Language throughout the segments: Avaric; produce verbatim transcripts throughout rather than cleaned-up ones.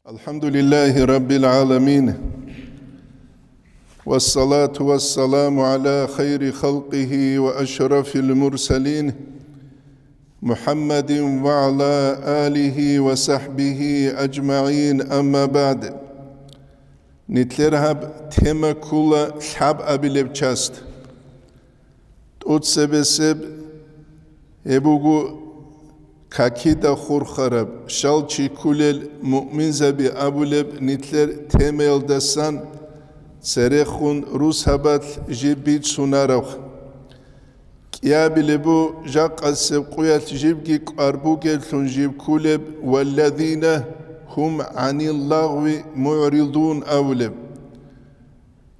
الحمد لله رب العالمين، والصلاة والسلام على خير خلقه وأشرف المرسلين، محمد وعلى آله وصحبه أجمعين، أما بعد. Нилъер гьаб тема ккола лъабабилеб часть. ТӀоцебесеб гьеб буго какида хурхараб, щал чи кколел муъминзаби абулеб нилъер темаялдасан церехун русабалъ жиб бицунараб. КӀиабилеб бу жакъасеб къуялъ жибги кӀвар бугеблъун жиб кколеб, «Валладина гьум гӀанил лагъви мугӀридун» абулеб.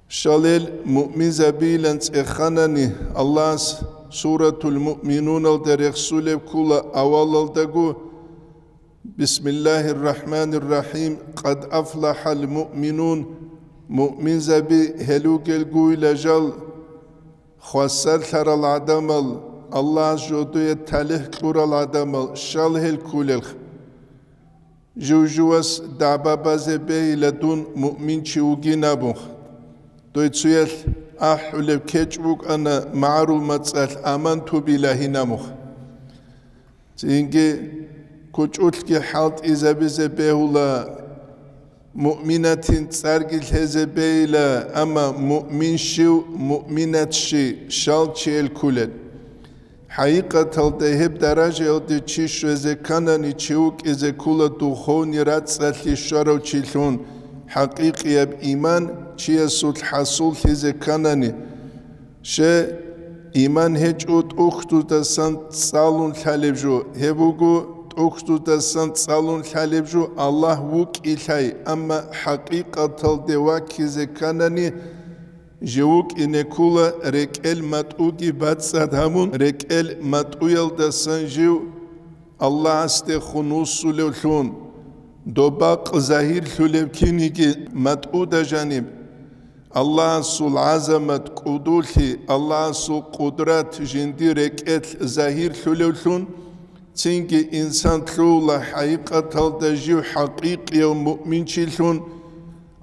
Щалел муъминзабийилан цӀеханани, Аллагьас Суратул Муъминуналда рехсулеб ккола авалалдаго: «Бисмиллагьир рахӀманир рахӀим, къад афлахӀал муъминун», муъминзаби гьел ругелгуйила жал, хвасарлъарал гӀадамал, Аллагьас жодое талихӀ кьурал гӀадамал, щал гьел кколелха. Жив-живас дагӀба базе бейила дун муъминчи вугин абун. Дой цуялъ ахӀулеб кечӀ букӀана магӀарул мацӀалъ аманту билагьи намух. Цинги кучӀулъги хӀалтӀизабизе бегьула, муъминатин цӀарги лъезе бейила, амма муъмин щив, муъминат щи, щал чиял кколел. ХӀакъикъаталда гьеб даражаялде чи щвезе кканани, чи вукӀизе ккола духовный рацӀцӀалъи щварав чилъун, хӀакъикъияб иман чиясулъ хӀасуллъизе кканани. Ще, иман гьечӀо тӀухьдудасан цӀалун лъалеб жо, гьеб буго тӀухьдудасан цӀалун лъалеб жо Аллагь вукӀилъай, амма хӀакъикъаталде ваккизе кканани, жив вукӀине ккола рекӀел матӀуги бацӀцӀад гьабун, рекӀел матӀуялдасан жив Аллагьасдехун вуссулевлъун, доб бакъ загьирлъулеб киниги матӀуда жаниб, Аллагьасул гӀазамат, кӀудулъи, Аллагьасул къудрат жиндир рекӀелъ загьирлъулевлъун, цинги инсан лъугьула хӀакъикъаталда жив хӀакъикъияв муъминчилъун,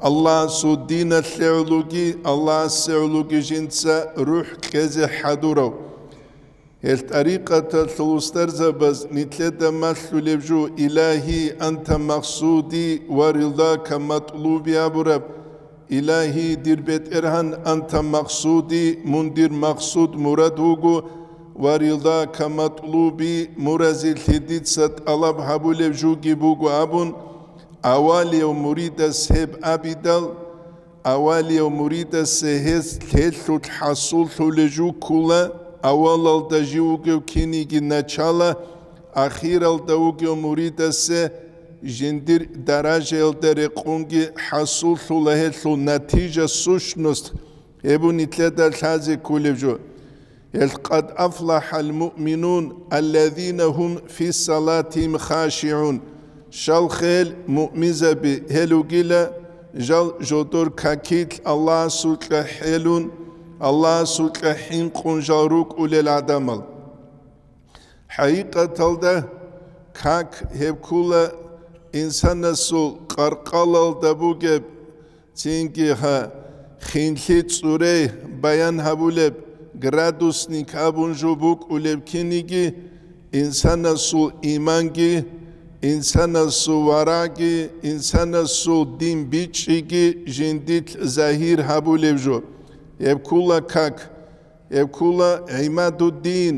Аллагьасул диналъе гӀологи, Аллагьасе гӀологи жинца рухӀ кьезе хӀадурав. Гьел тӀарикъаталъул устарзабаз нилъеда малъулеб жо: «Илагьи, анта макъсуди ва рилдака матлуби», абураб. «Илагьи, дир БетӀергьан, анта макъсуди, мун дир макъсуд-мурад вуго, ва рилдака матлуби, мун разилъи дица тӀалаб гьабулеб жуги буго», абун, авалияв муридас гьеб абидал, авалияв муридасе гьес лъелъулъ хӀасуллъулей жуккула, авалалда жив вугев киниги начала, ахиралда вугев муридасе жиндир даражаялда рекъунги хӀасуллъула гьелъул натижа, сущность, гьеб нилъеда лъазе кколеб жо. Гьел къад афлахӀал муъминун, аллазина гьум фи салатихим хашигӀун. Щалха гьел муъминзаби, гьел ругила жал жодор какилъ Аллагьасукьа хӀелун, Аллагьасукьа хӀинкъун жал рукӀулел гӀадамал. ХӀакъикъаталда как гьеб ккула инсанасул къаркъалалда бугеб, цинги гьа, хинлъи цӀурей баян гьабулеб, градусник абун жо букӀулеб киниги, инсанасул иманги, инсанасул варагӀги, инсанасул дин бичӀчӀиги жиндилъ загьир гьабулеб жо. Гьеб ккула как, гьеб ккула гӀимадуддин,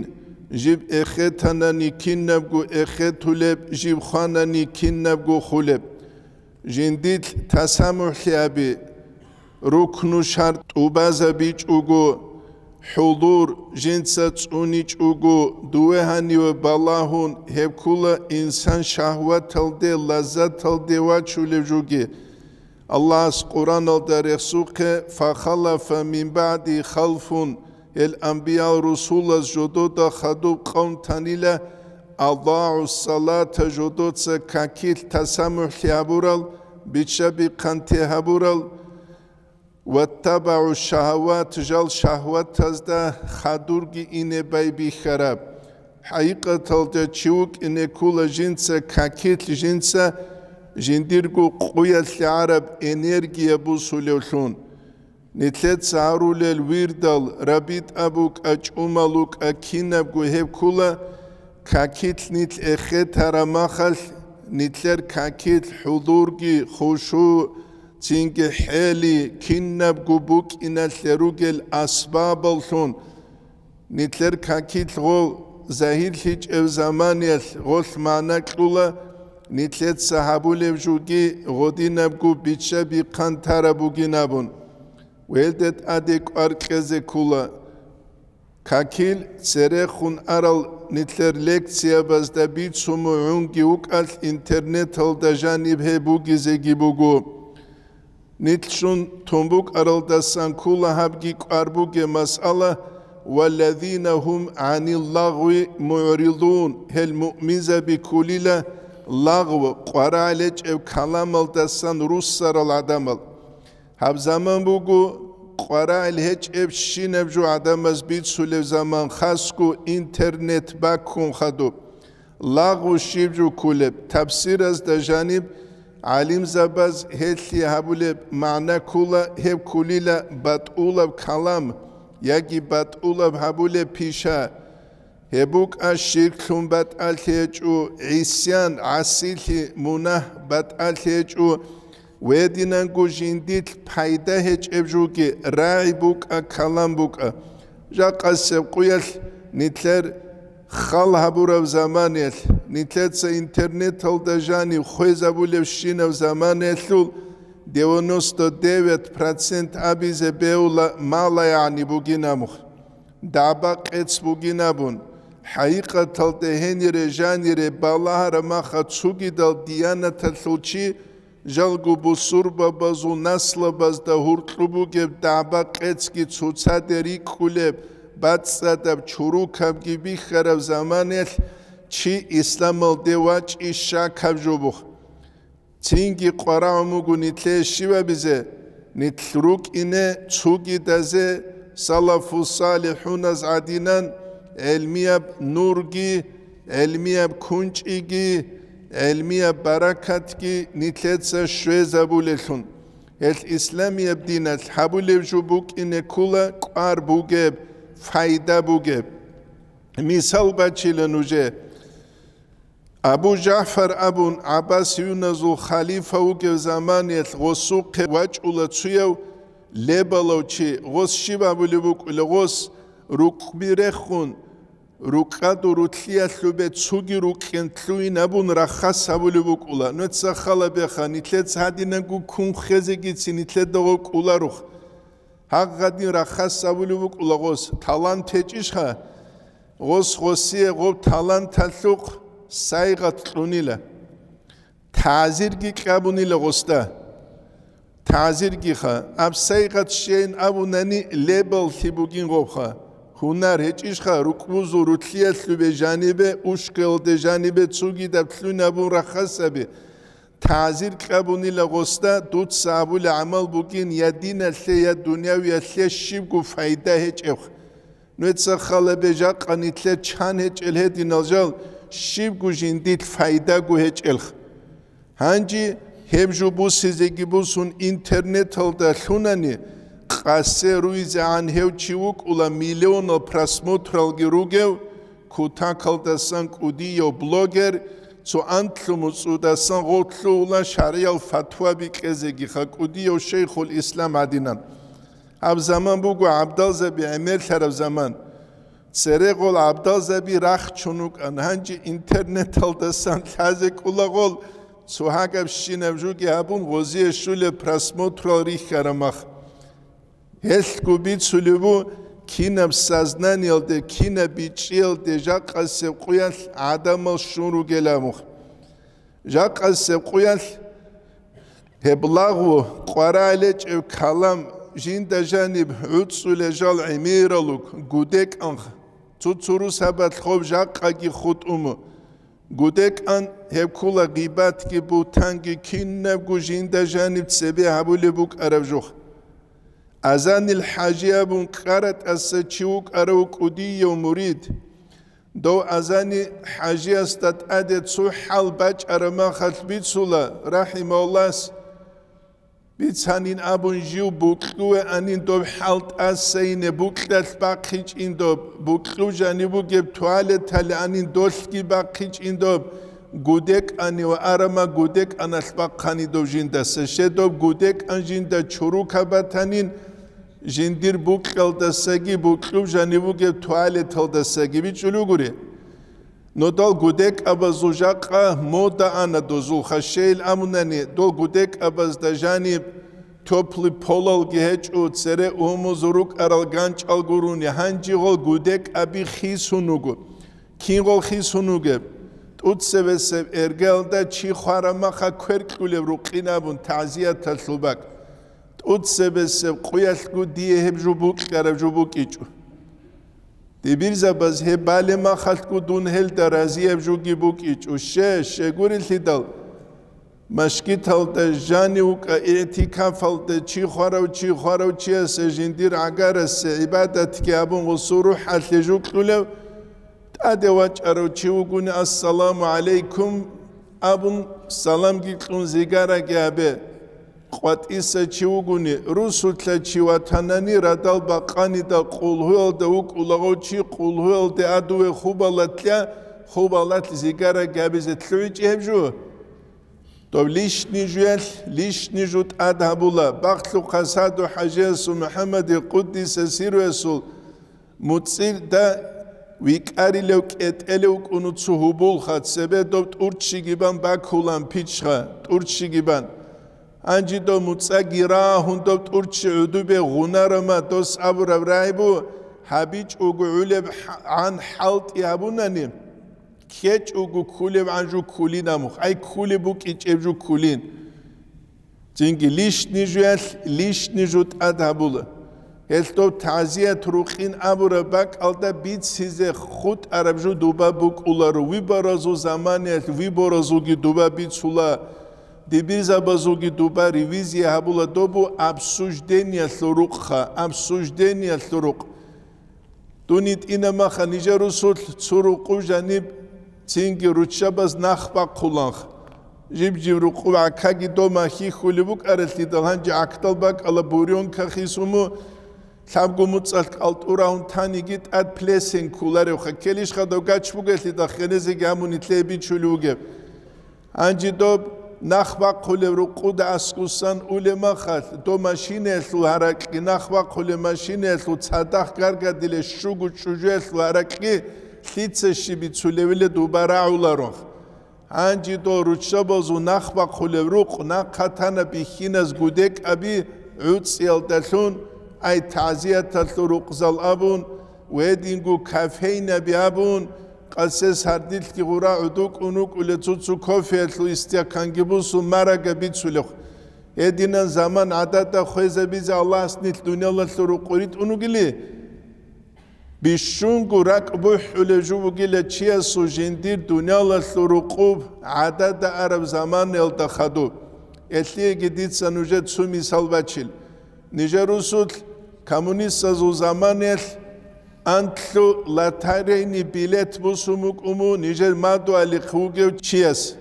жиб эхетанани кинабго эхетулеб, жиб хванани кинабго хулеб. Жиндилъ тасамухӀлъи аби, рукну шартӀ тӀубазабичӀого, хӀузур жинца цӀуничӀого, дуе гьаниве балагьун, гьеб ккула инсан шагьваталде, лаззаталде вачулев жуги. Аллагьас Къуръаналда рехсухъе: «Фахалафа мин баъди халфун», гьел анбиял-русулаз жодода хадуб къавм танила, «адагӀу салата», жодоца какилъ тасамухӀлъи гьабурал, биччаби-хъанти гьабурал, «ваттабагӀу шагьават», жал шагьватазда хадурги ине байбихьараб. ХӀакъикъаталда чи вукӀине ккула жинца какилъ, жинца жиндирго къуялъ гӀараб энергия бусулевлъун. Нилъеца гьарулел вирдал, рабитӀа букӀа, чӀумал рукӀа, кинабго гьеб ккула, какилъ нилъ эхетараб махалъ, нилъер какилъ хӀузурги, хушугӀ, цинги хӀели, кинабго букӀиналъе ругел асбабаллъун. Нилъер какилъ гъо загьирлъичӀеб заманиялъ гъолъ магӀна кьула, нилъеца гьабулеб жуги гъодинабго бичча-бихъан тараб бугин абун. Гьелде тӀаде кӀвар кьезе ккула. Какил церехун арал нилъер лекциябазда бицун мугӀунги вукӀалъ, интернеталда жаниб гьеб бугезеги буго. Нилъ щун тун букӀаралдасан ккула гьабги кӀвар бугеб масъала: «Валлазина гьум гӀанил лагъви мугӀридун», гьел муъминзаби ккулила лагъв, къварагӀел гьечӀеб каламалдасан руссарал гӀадамал. Гьаб заман буго къварагӀел гьечӀебщинаб жо гӀадамаз бицулеб заман, хасго интернет баккун хадуб. Лагъу щиб жо ккулеб? Тафсиразда жаниб гӀалимзабаз гьелъие гьабулеб магӀна ккула, гьеб ккулила батӀулаб калам яги батӀулаб гьабулеб пиша. Гьеб букӀа ширклъун батӀалъи гьечӀо, гӀисян, гӀасилъи, мунагь батӀалъи гьечӀо, гьединанго жиндилъ пайда гьечӀеб жуги, рагӀи букӀа, калам букӀа. Жакъасеб къуялъ нилъер хал гьабураб заманиялъ, нилъеца интернеталда жанив хвезабулебщинаб заманиялъул девяносто девять процент абизе бегьула малагӀни бугин абун, дагӀба-къец бугин абун, хӀакъикъаталда гьенире жанире балагьараб маха цугидал диянаталъул чи жалго бусурбабазул наслабазда гьуркьу бугеб дагӀба-къецги цоцаде рикӀкӀулеб, бацӀцӀадаб, чурукабги бихьараб заманаялъ чи исламалде вачӀи щакаб жо буго. Цинги къварагӀун буго нилъее щиб абизе, нилъ рукӀине цугидазе салафу-салихӀуназ гӀадинан гӀелмияб нурги, гӀелмияб кунчӀиги, гӀелмияб баракатги нилъеца щвезабулелъун. Гьелъ исламияб диналъ гьабулеб жо букӀине ккула кӀвар бугеб, файда бугеб. Мисал бачила нужее. Абу ЖагӀфар абун гӀаббасиюназул халифа вугев заманиялъ гъосухъе вачӀула цуяв лебалав чи. Гъос щиб абулеб букӀула? Гъос рукъби рехун, рукъаду рулъиялъубе цуги рукъен лъугьин абун рахас гьабулеб букӀула. Нуца хал беха, нилъеца гьадинанго кун хезегицин нилъеда гъо кӀоларух. Гьагъадин рахас гьабулеб букӀула гъос. Талант гьечӀищха? Гъос гъосие гъоб таланталъухъ сайгъат кьунила. ТагӀзирги кьабунила гъосда. ТагӀзиргиха, аб сайгъат щейин абунани лебаллъи бугин гъобха. Гьунар гьечӀищха, рукъбузул рулъиялъубе жанибе, ушкалде жанибе цугидаб лъугьин абун рахас гьаби. ТагӀзир кьабунила гъосда, дуца абулеб гӀамал бугин я диналъе, я дунявиялъе щибго файда гьечӀеб. Нуца хал бе, жакъа нилъер чан гьечӀел гьединал жал, щибго жиндилъ файдаго гьечӀелха. Гьанже гьеб жо бусизеги бусун интернеталда лъунани, къасе руйзегӀан гьев чи вукӀула миллионал просмотралги ругев, кутакалдасан кӀудияв блогер, цо анлъу муцӀудасан гъов лъугьула шаргӀиял фатва бикьезегиха, кӀудияв шейхул ислам гӀадинан. Гьаб заман буго гӀабдалзаби гӀемерлъараб заман. Церегъол гӀабдалзаби рахчун рукӀан, гьанже интернеталдасан лъазе кӀулагъол цо гьагабщинаб жуги гьабун гъозие щулеб просмотрал рихьараб мах. Гьелъго бицулеб бу, кинаб сознаниялде, кинаб бичӀчӀиялде жакъасеб къуялъ гӀадамал щун ругел абун. Жакъасеб къуялъ гьеб лагъу, къварагӀел гьечӀеб калам, жинда жаниб гӀуцӀулел жал гӀемералуг, гудекӀан, цо-цо русабалъ гъоб жакъаги хутӀун. ГудекӀан гьеб ккула гъибатги, бугьтанги, кинабго жинда жаниб цебе гьабулеб букӀараб жо. Азанил ХӀажи абун КкаратӀаса чи вукӀарав кӀудияв мурид. Дов азани хӀажиясда тӀаде цо хӀал бачӀараб махалъ бицула, рахӀимагьуллагь, бицанин абун жив букьуве анин доб хӀал тӀасайине букьалъ бахъичӀин доб, букьув жаниб бугеб туалетале анин долъги бахъичӀин доб, гудекӀани ва арама гудекӀаналъ бахъани дов жиндаса, щедоб гудекӀан жинда чурука батанин, жиндир букьалдасаги букьуб жаниб бугеб туалеталдасаги бичӀчӀулев гури. Нодал гудекӀабазул жакъа мода ана дозул хашейил амунани, дол гудекӀабазда жаниб тёплый полалги гьечӀо, цере умузу рукӀарал ганчӀал гуруни, гьанжи гъол гудекӀаби хисун вуго. Кин гъол хисун вугеб? ТӀуцебесеб эргалда чи хвараб маха кверкьулеб рукъин абун, тагӀзияталъул бакӀ. ТӀуцебесеб къуялъго дие гьеб жо букьараб жо букӀичӀо. Дибирзабаз гьеб балеб махалъго дун гьелда разияб жоги букӀичӀо. Ще, щегурелъидал, машгиталда жанив вукӀа, игӀтикафалда чи хварав, чи хварав чиясе жиндир гӀагарасе гӀибадатги абун гъусул рухӀалъе жукьулев, тӀаде вачӀарав чи вугони, «Ассаламу гӀалайкум», абун, саламги кьун зигараги гьабе. КъватӀиса чи вугони, русулъа чи ватанани радал бакъанида къулгьуялда вукӀулагъав чи къулгьуялде адуве хубалатлъа, хубалат зигараги гьабизе лъугӀичӀи гьеб жо? Доб лишни жуялъ лишни жу тӀад гьабула, бахлъухъа Саду хӀажиясул МухӀаммадил къуддиса сируясул муцӀирда викӀарилев кӀетӀелев вукӀуну цо гьубулха, цебе доб тӀурччиги бан бакулан пичха, тӀурччиги бан. Гьанжи доб муцӀаги рагьун доб тӀурччи гӀудубе гъунарама дос абураб рагӀи бу, гьабичӀого гӀулеб гӀан хӀалтӀи гьабунани, ккечӀого ккулеб гӀан жу ккулин амухъ, ай ккулеб букӀичӀеб жу ккулин. Цинги лишни жуялъ лишни жу тӀад гьабула. Гьелъ доб тагӀзият рукъин абураб бакӀалда бицизе хутӀараб жу дуба букӀуларо, выборазул заманаялъ выборазулги дуба бицула, дибирзабазулги дуба ревизия гьабула, добу обсуждениялъул рукъха, обсуждениялъул рукъ. Дун йитӀина маха нижер русулъ цо рукъу жаниб цинги руччабаз нах бахъуланх. Жиб-жиб рукъу гӀакаги дома хьихьулеб букӀаралъидал гьанже гӀакдал бакӀала бурёнка хисуму, лъабго муцӀалъ кӀалтӀурагьун таниги тӀад плесен кколаревха, ккелищха дов гач бугелъидал хенезеги гьамун нилъее бичулев вугеб. Гьанже доб нах бахъулеб рукъуда аскӀусан улеб махалъ, доб машинаялъул гьаракьги, нах бахъулеб машинаялъул цадахъ гаргадилеб щуго чӀужуялъул гьаракьги лъица щиб бицулевиле дуба рагӀуларонх. Гьанже дол руччабазул нах бахъулеб рукъ нахъа тана бихьиназ гудекӀаби гӀуцӀиялдалъун, ай тагӀзияталъул рукъзал абун, гьединго кофейнаби абун, къасес гьардилъги гъура гӀодокӀун вукӀулел цо-цо кофеялъул истаканги бусун марага бицулев. Гьединан заман гӀадада хвезабизе Аллагьас нилъ дуниялалъул рукъу ритӀун вугили, бищунго ракӀ бухӀулев жо бугила чиясул жиндир дуниялалъул рукъуб гӀадада араб заманаялда хадуб. Элъиеги дица нужер цо мисал бачил. Нижер русулъ коммунистазул заманаялъ анлъу лотерейный билет бусун букӀун бу нижер мадугьалихъ вугев чияс.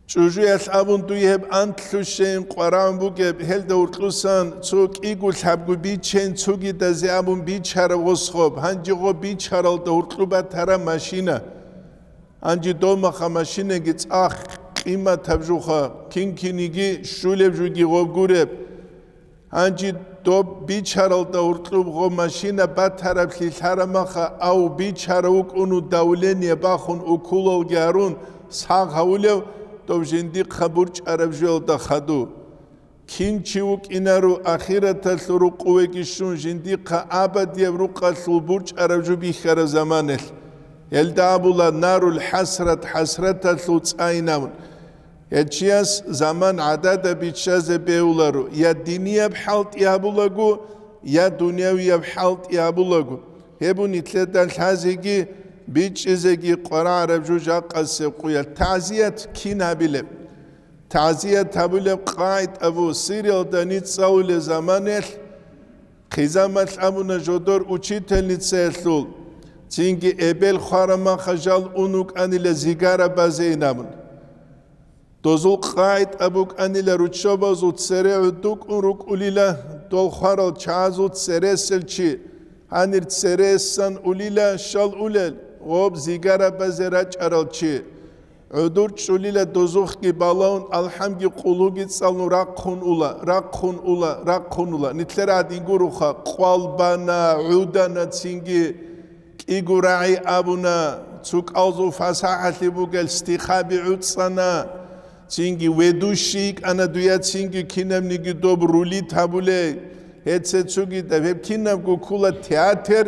ЧӀужуялъ абун дуе гьеб анлъу щейин къварагӀун бугеб, гьелда гьуркьусан цо кӀиго лъабго бичейин цогидазе абун бичараб гъос гъоб, гьанже гъоб бичаралда гьуркьу батараб машина. Гьанже дов маха машинаги цӀакъ къиматаб жуха, кин-киниги щулеб жуги гъоб гуреб. Гьанже доб бичаралда гьуркьуб гъо машина батараблъи лъарамаха, ав бичара вукӀуну давление бахун уколалги гьарун сагъ гьавулев, дов жиндихъа бурчӀараб жоялда хаду. Кин чи вукӀинаро ахираталъул рукъувеги щун жиндихъа абадияб рукъалъул бурчӀараб жо бихьараб заманалъ. Гьелда абула нарул хӀасрат, хӀасраталъул цӀайинабун. Гьел чияс заман гӀадада биччазе бегьуларо, я динияб хӀалтӀи гьабулаго, я дунявияб хӀалтӀи гьабулаго. Гьеб нилъеда лъазеги бичӀчӀизеги къварагӀараб жо жакъасеб къуялъ. ТагӀзият кин гьабилеб? ТагӀзият гьабулеб къагӀида бу, Сириялда ницӀ цӀалулел заманалъ, хъизамалъ абуна жодор учительницаялъул, Цинги эбел хварамаха жал ун вукӀанила зигара базейин абун. Дозул къагӀида букӀанила руччабазул цере гӀудукӀун рукӀулила дол хварал чагӀазул цересел чи, гьанир цересан улила щал улел, гъоб зигара базе рачӀарал чи. ГӀудур чӀулила дозухъги балаун, алхӀамги къулгьуги цӀалун рахъун ула, рахъун ула, рахъун ула. Нилъер гӀадин гуроха, къвал бана, гӀудана цинги. КӀиго рагӀи абуна, цо кӀалзул фасахӀалъи бугел стихаби гӀуцӀана, цинги ведущий йикӀана дуя, цинги кинабниги доб рулит гьабулей. Гьеце цогидаб гьеб кинабго ккола театр,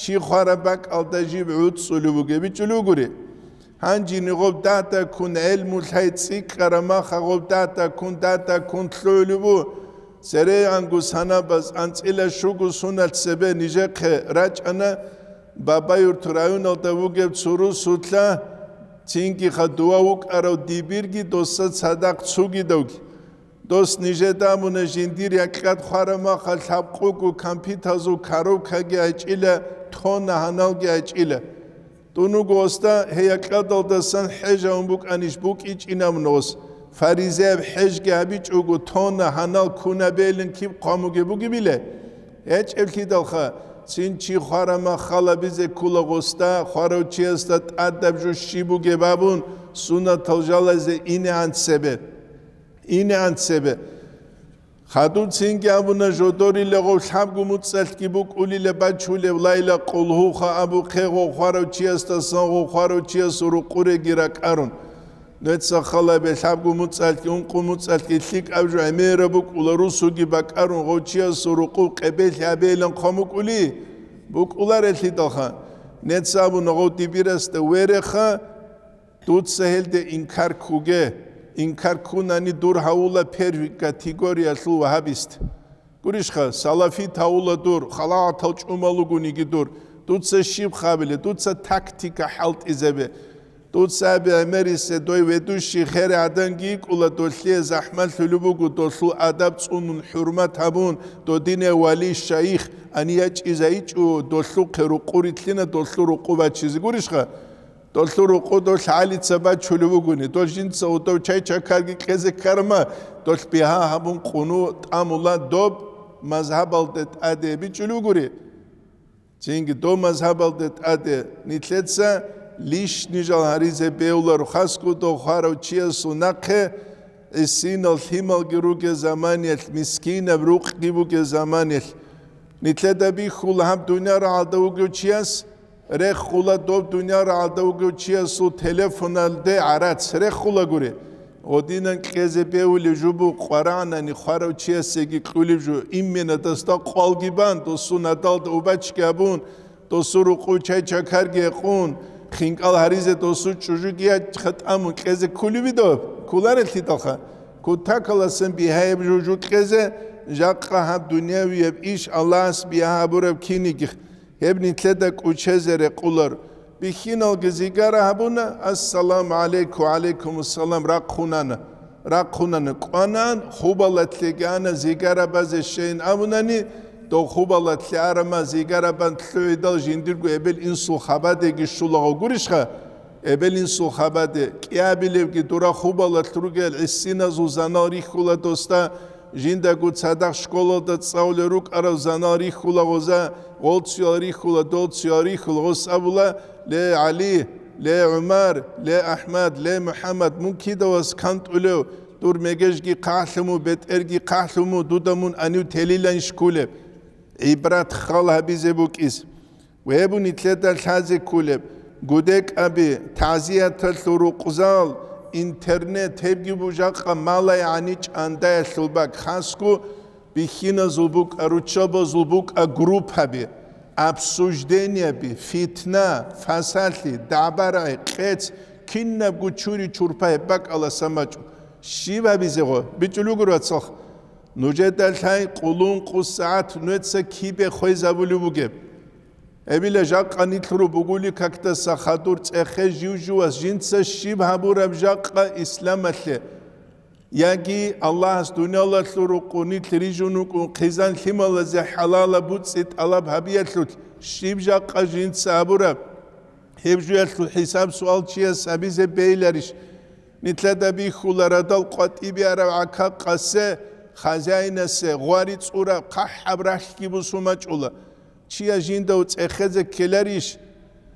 чи хвараб бакӀалда жиб гӀуцӀулев вугеб бичӀчӀулев гури. Гьанжини гъоб дагьдаккун гӀелму лъай цӀикӀкӀараб маха гъоб дагьдаккун, дагьдаккун лъугӀулеб бу. ЦерегӀанго санабаз анцӀила щуго суналъ цебе нижехъе рачӀана, Бабаюрт районалда вугев цо русулъа, цинги хадув вукӀарав дибирги доса цадахъ цугидавги. Дос нижеда абуна жиндир якьад хвараб маха лъабкъого компьютерзул коробкаги гьечӀила, тонна гьаналги гьечӀила. Дун вуго, оста, гьей якьадалдасан хӀежавун букӀанищ букӀичӀинабун ос, фаризеяб хӀежги гьабичӀого, тонна гьанал кунабейлин киб хъван бугеб бугебила? ГьечӀеблъидалха, цин чи хвараб мах халабизе ккола гъосда, хварав чиясда тӀадаб жо щиб бугеб абун, сунатал жалазе инегӀан цебе. ИнегӀан цебе. Хадуб цинги абуна, жодорила гъов лъабго муцӀалъги букӀулила бачулев лайла къулгьуха абухъе гъов хварав чиясдасан гъов хварав чиясул рукъуреги ракӀарун. Нуца халабе лъабго муцӀалъги ункъо муцӀалъги лъикӀаб жо гӀемераб букӀула, русуги бакӀарун гъов чиясул рукъу къебелъи гьабейилан хъван букӀули? БукӀуларелъидалха. Нуца абуна гъов дибирасда, вереха, Дуца гьелде инкар ккуге, инкар ккунани дур гьавула первый категориялъул вагьабист. Гурищха, салафит гьавула дур, халатал чӀумал ругониги дур. Дуца щиб хабиле, дуца тактика хӀалтӀизабе. Дуца абе гӀемерисе дой ведущий хер гӀаданги йикӀула, долъие захӀмалъулеб буго, долъул адаб цӀунун, хӀурмат гьабун, додине вали, шайих, ани ячӀизайичӀо, долъухъе рукъу ритлъина, долъул рукъу бачизе. Гурищха? Долъул рукъу долъ гӀалица бачулев вугони, дол жинца гьудов чай-чакарги кьезе ккарма, долъ бигьа гьабун къуну тӀамула доб мазгьабалде тӀаде бичӀулев гури. Цинги доб мазгьабалде тӀаде нилъеца лишни жал гьаризе бевлар, хасго дов хварав чиясул нахъе гӀисинал лъималги ругел заманиялъ, мискинаб рукъги бугел заманиялъ. Нилъеда бихьула гьаб дунъя рагӀалда вугев чияс, Рехула доб дунъя рагӀалда вугев чиясул телефоналде гӀарац, рехула гури. Гъодинан кьезе бевулев жо бу къварагӀнани хварав чиясеги кьулев жо, имменадасда къвалги бан, досун гьадалда убачги абун, досу рукъу чай-чакарги гьекъун, хинкӀал гьаризе досу чӀужуги ячха тӀамун кьезе ккулеви доб? Ккуларелъидалха. Кутакаласан бигьаяб жо жу кьезе, жакъа гьаб дунявияб иш Аллагьас бигьа гьабураб кинигих. Гьеб нилъеда кӀучезе рекъулар. Бихьиналги зигара гьабуна, ассаламу гӀалайкум, ва гӀалайкумуссалам, рахъунана. Рахъунана, кӀванан, хубалатлъеги ана, зигара базе щейин абунани, дов хубалатлъи арама, зигара бан лъугӀидал жиндирго эбел-инсул хабадеги щулаго гурищха? Эбел-инсул хабаде, кӀиабилевги дура хубалалъ ругел гӀисиназул занал рихьула досда, жиндаго цадахъ школалда цӀалулел рукӀарал занал рихьула гъоза, гъолцуял рихьула, долцуял рихьула, гъос абула: «Ле, ГӀали, ле, ГӀумар, ле, АхӀмад, ле, МухӀаммад, мун кидавас кантӀулев, дур мегежги хъахӀлъуму, бетӀерги хъахӀлъуму, дуда мун анив телилан шкулеб?» ГӀибрат хал гьабизе букӀис. Гьеб нилъеда лъазе кколеб, гудекӀаби, тазияталъул рукъзал, интернет, гьебги бу жакъа малай гӀани чӀандаялъул бакӀ, хасго бихьиназул букӀа, руччабазул букӀа группаби, обсуждениеби, фитна, фасалъи, дагӀба-рагӀи, къец, кинабго чури-чурпа гьеб бакӀаласан бачӀун. Щиб гьабизего? БичӀулев гуро, вацал. Нужеда лъай къулун-къу сагӀат нуеца кибе хвезабулев бугеб. Гьебила жакъа нилъ ру бугули какдаса хадур цӀехе жив-живас жинца щиб гьабураб жакъа исламалъе, яги Аллагьас дуниялалъул рукъу нилъ рижун вукӀун хъизан лъималазе хӀалалаб буцӀи тӀалаб гьабиялъулъ щиб жакъа жинца гьабураб? Гьеб жуялъул хӀисаб-суал чияс гьабизе бейиларищ? Нилъеда бихьула радал къватӀибе арав гӀака-къасе, хазяинасе, гъвари цӀураб, хъахӀаб рахьги бусун бачӀула. Чияс жинда цӀехезе ккеларищ?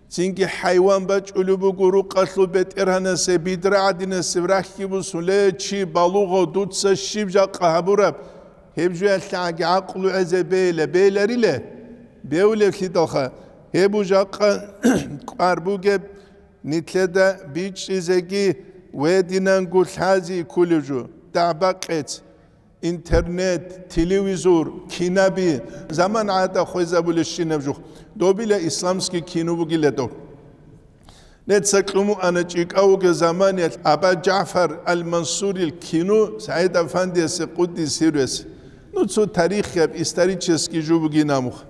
Цинги хӀайван бачӀулеб буго рукъалъул бетӀергьанасе, бидра гӀадинасеб рахьги бусун, ле, чи балугъав, дуца щиб жакъа гьабураб? Гьеб жуялъагӀаги гӀакълу гӀезе бейила, бейиларила? Бевлевлъидалха, гьеб жакъа кӀвар бугеб, нилъеда бичӀчӀизеги вединанго лъази кколев жо, дагӀба-къец, интернет, телевизор, кинаби, заман гӀада хвезабулебщинаб жух, добила исламский кино бугила доб. Нецакьуму ана чӀикӀав вугев заманиялъ Аба Жафар ал-Мансурил кино СагӀид Афандиясе къуддис сирру. Ну, цо тарихияб, исторический жо бугин амух.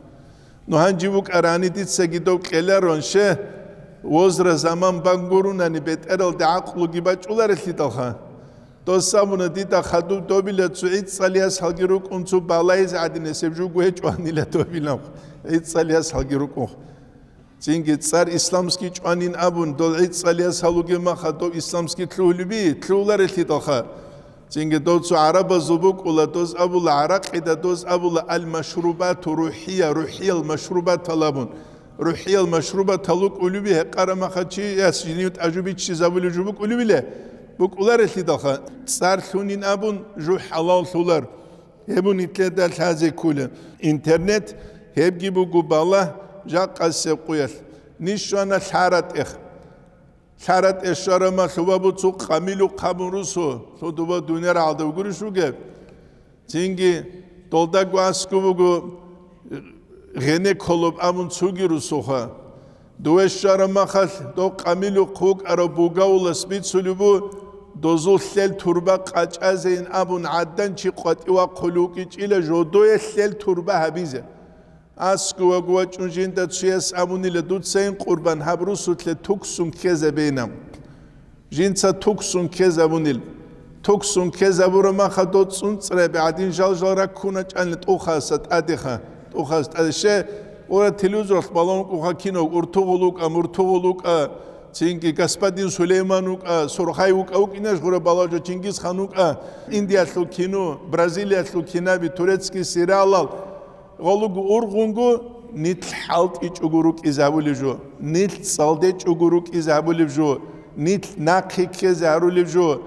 Ну, гьанжи букӀарани дицаги доб кьеларон ще, возра заман бан гурунани бетӀералде гӀакълуги бачӀуларелъидалха. Дос абуна дида хадуб добила цо гӀицӀалияс гьалги рукӀун цо балайзе гӀадинасеб жуго гьечӀо анила добилан. ГӀицӀалияс гьалги рукӀун. Цинги цӀар исламский чӀванин абун, дол гӀицӀалияс гьалуге маха доб исламский лъугьулеби, лъугьуларелъидалха. Цинги дов цо гӀарабазул букӀула, доз абула гӀаракъида, доз абула ал-машрубату рухӀия, рухӀиял машрубатал абун. РухӀиял машрубатал вукӀулеби гьекъара маха чияс жинив тӀажу биччизабулев жо букӀулебила? БукӀуларелъидалха, цӀар лъунин абун, жу хӀалаллъулар. Гьеб нилъеда лъазе ккола. Интернет гьебги буго балагь жакъасеб къуялъ. Ниж щвана лъаратӀех. ЛъаратӀе щварама лъубабу цо къамилухъ гьабун русу, лъудуба дуниял гӀалда вугурищ вугеб? Цинги долдаго аскӀуб буго гъенеколоб абун цоги русуха. Дове щвараб махалъ, дов къамилухъ вукӀарав бугавулас бицулеб бу, дозул лъел турба къачӀазейин абун гӀадан чи къватӀив вахъулев вукӀичӀила, жодое лъел турба гьабизе. АскӀуваг вачӀун жинда цуяс абунила, дуцайин къурбан гьаб русулъе туксун ккезабейинан. Жинца туксун ккезабунил. Туксун ккезабура маха доцӀцӀун цӀреби гӀадин жал-жал раккуна чӀанила тӀухаса тӀадеха. ТӀухаса тӀаде. Ще, ура телевизоралъ балагьун вукӀуха кино, уртугъул вукӀа, муртугъул вукӀа, цинги господин Сулейман вукӀа, Сурхай вукӀа, вукӀинаш гъура балагьжо Чингисхан вукӀа, Индиялъул кино, Бразилиялъул кинаби, турецкий сериалал. Гъолуго ургъунго нилъ хӀалтӀичӀого рукӀизе гьабулеб жо, нилъ цӀалдечӀого рукӀизе гьабулеб жо, нилъ нахъе ккезе гьарулеб жо.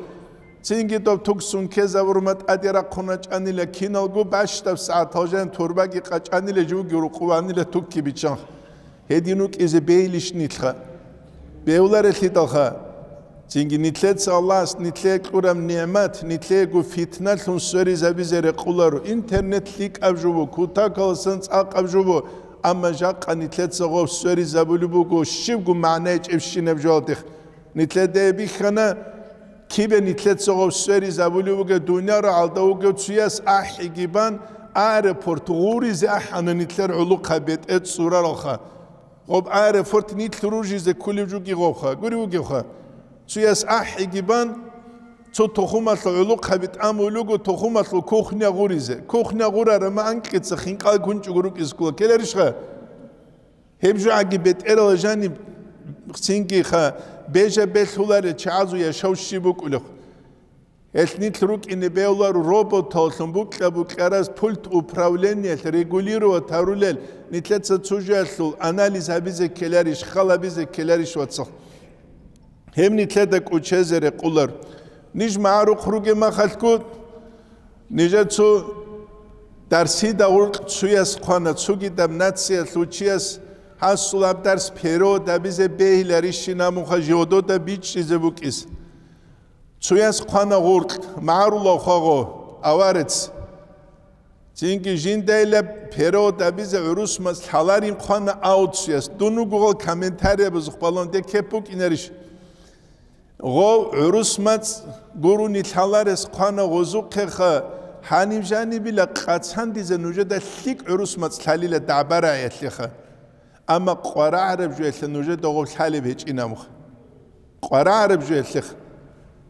Цинги доб туксун ккезабурма тӀаде рахъуна чӀанила киналго бащдаб сагӀатал жан турбаги къачӀанила живги рукъуванила тукки биччан. Гьедин вукӀизе бейилищ нилъха? Бевларелъидалха. Цинги нилъеца Аллагьас нилъее кьураб нигӀмат, нилъеего фитналъун сверизабизе рекъоларо. Интернет лъикӀаб жо бу, кутакаласан цӀакъаб жо бу, амма жакъа нилъеца гъов сверизабулеб буго щибго магӀна гьечӀебщинаб жоялдехъ. Нилъеда бихьана, кибе нилъеца гъов сверизабулеб буго, дуниял рагӀалда вугев цуяс ахӀиги бан, аэропорт гъуризе ахӀана нилъер гӀолохъа бетӀер цӀураралха. Гъоб аэрофорт нилъ ружизе ккулев жуги гъовха, гури вугевха. Цуяс ахӀиги бан, цо тухумалъул гӀулухъаби тӀамулего тухумалъул кухня гъуризе. Кухня гъурарама анкьица хинкъал гунчӀуго рукӀизе ккола. Ккеларищха? Гьеб жугӀаги бетӀерала жаниб цинги ха бежа белъуларел чагӀазул яшав щиб букӀулев? Гьелъ нилъ рукӀине бегьуларо роботаллъун букьа-букьараз пульт управлениялъ регулировать гьарулел, нилъеца цо жоялъул анализ гьабизе ккеларищ, хал гьабизе ккеларищ, вацал? Гьеб нилъеда кӀучезе рекъолар. Ниж магӀарухъ ругеб махалъго, нижер цо дарсида гъуркь цуяс хъвана, цогидаб нациялъул чияс гьасул гьаб дарс перевод гьабизе бегьиларищин абунха жодода бичӀчӀизе букӀис. Цуяс хъвана гъуркь, магӀарулав хвагъо, аварец. Цинги жиндайилаб перевод гьабизе гӀурус мацӀ лъаларин хъвана, ау цуяс. Дун вугогъал комментариябазухъ балагьун, деккеб букӀинарищ? Гъов гӀурус мацӀ гурони лъаларес хъвана гъозухъеха, гьаниб жанибила къацандизе нужеда лъикӀ гӀурус мацӀ лъалила дагӀба-рагӀиялъеха. Амма къварагӀараб жоялъе нужеда гъов лъалеб гьечӀин абуха. КъварагӀараб жоялъеха.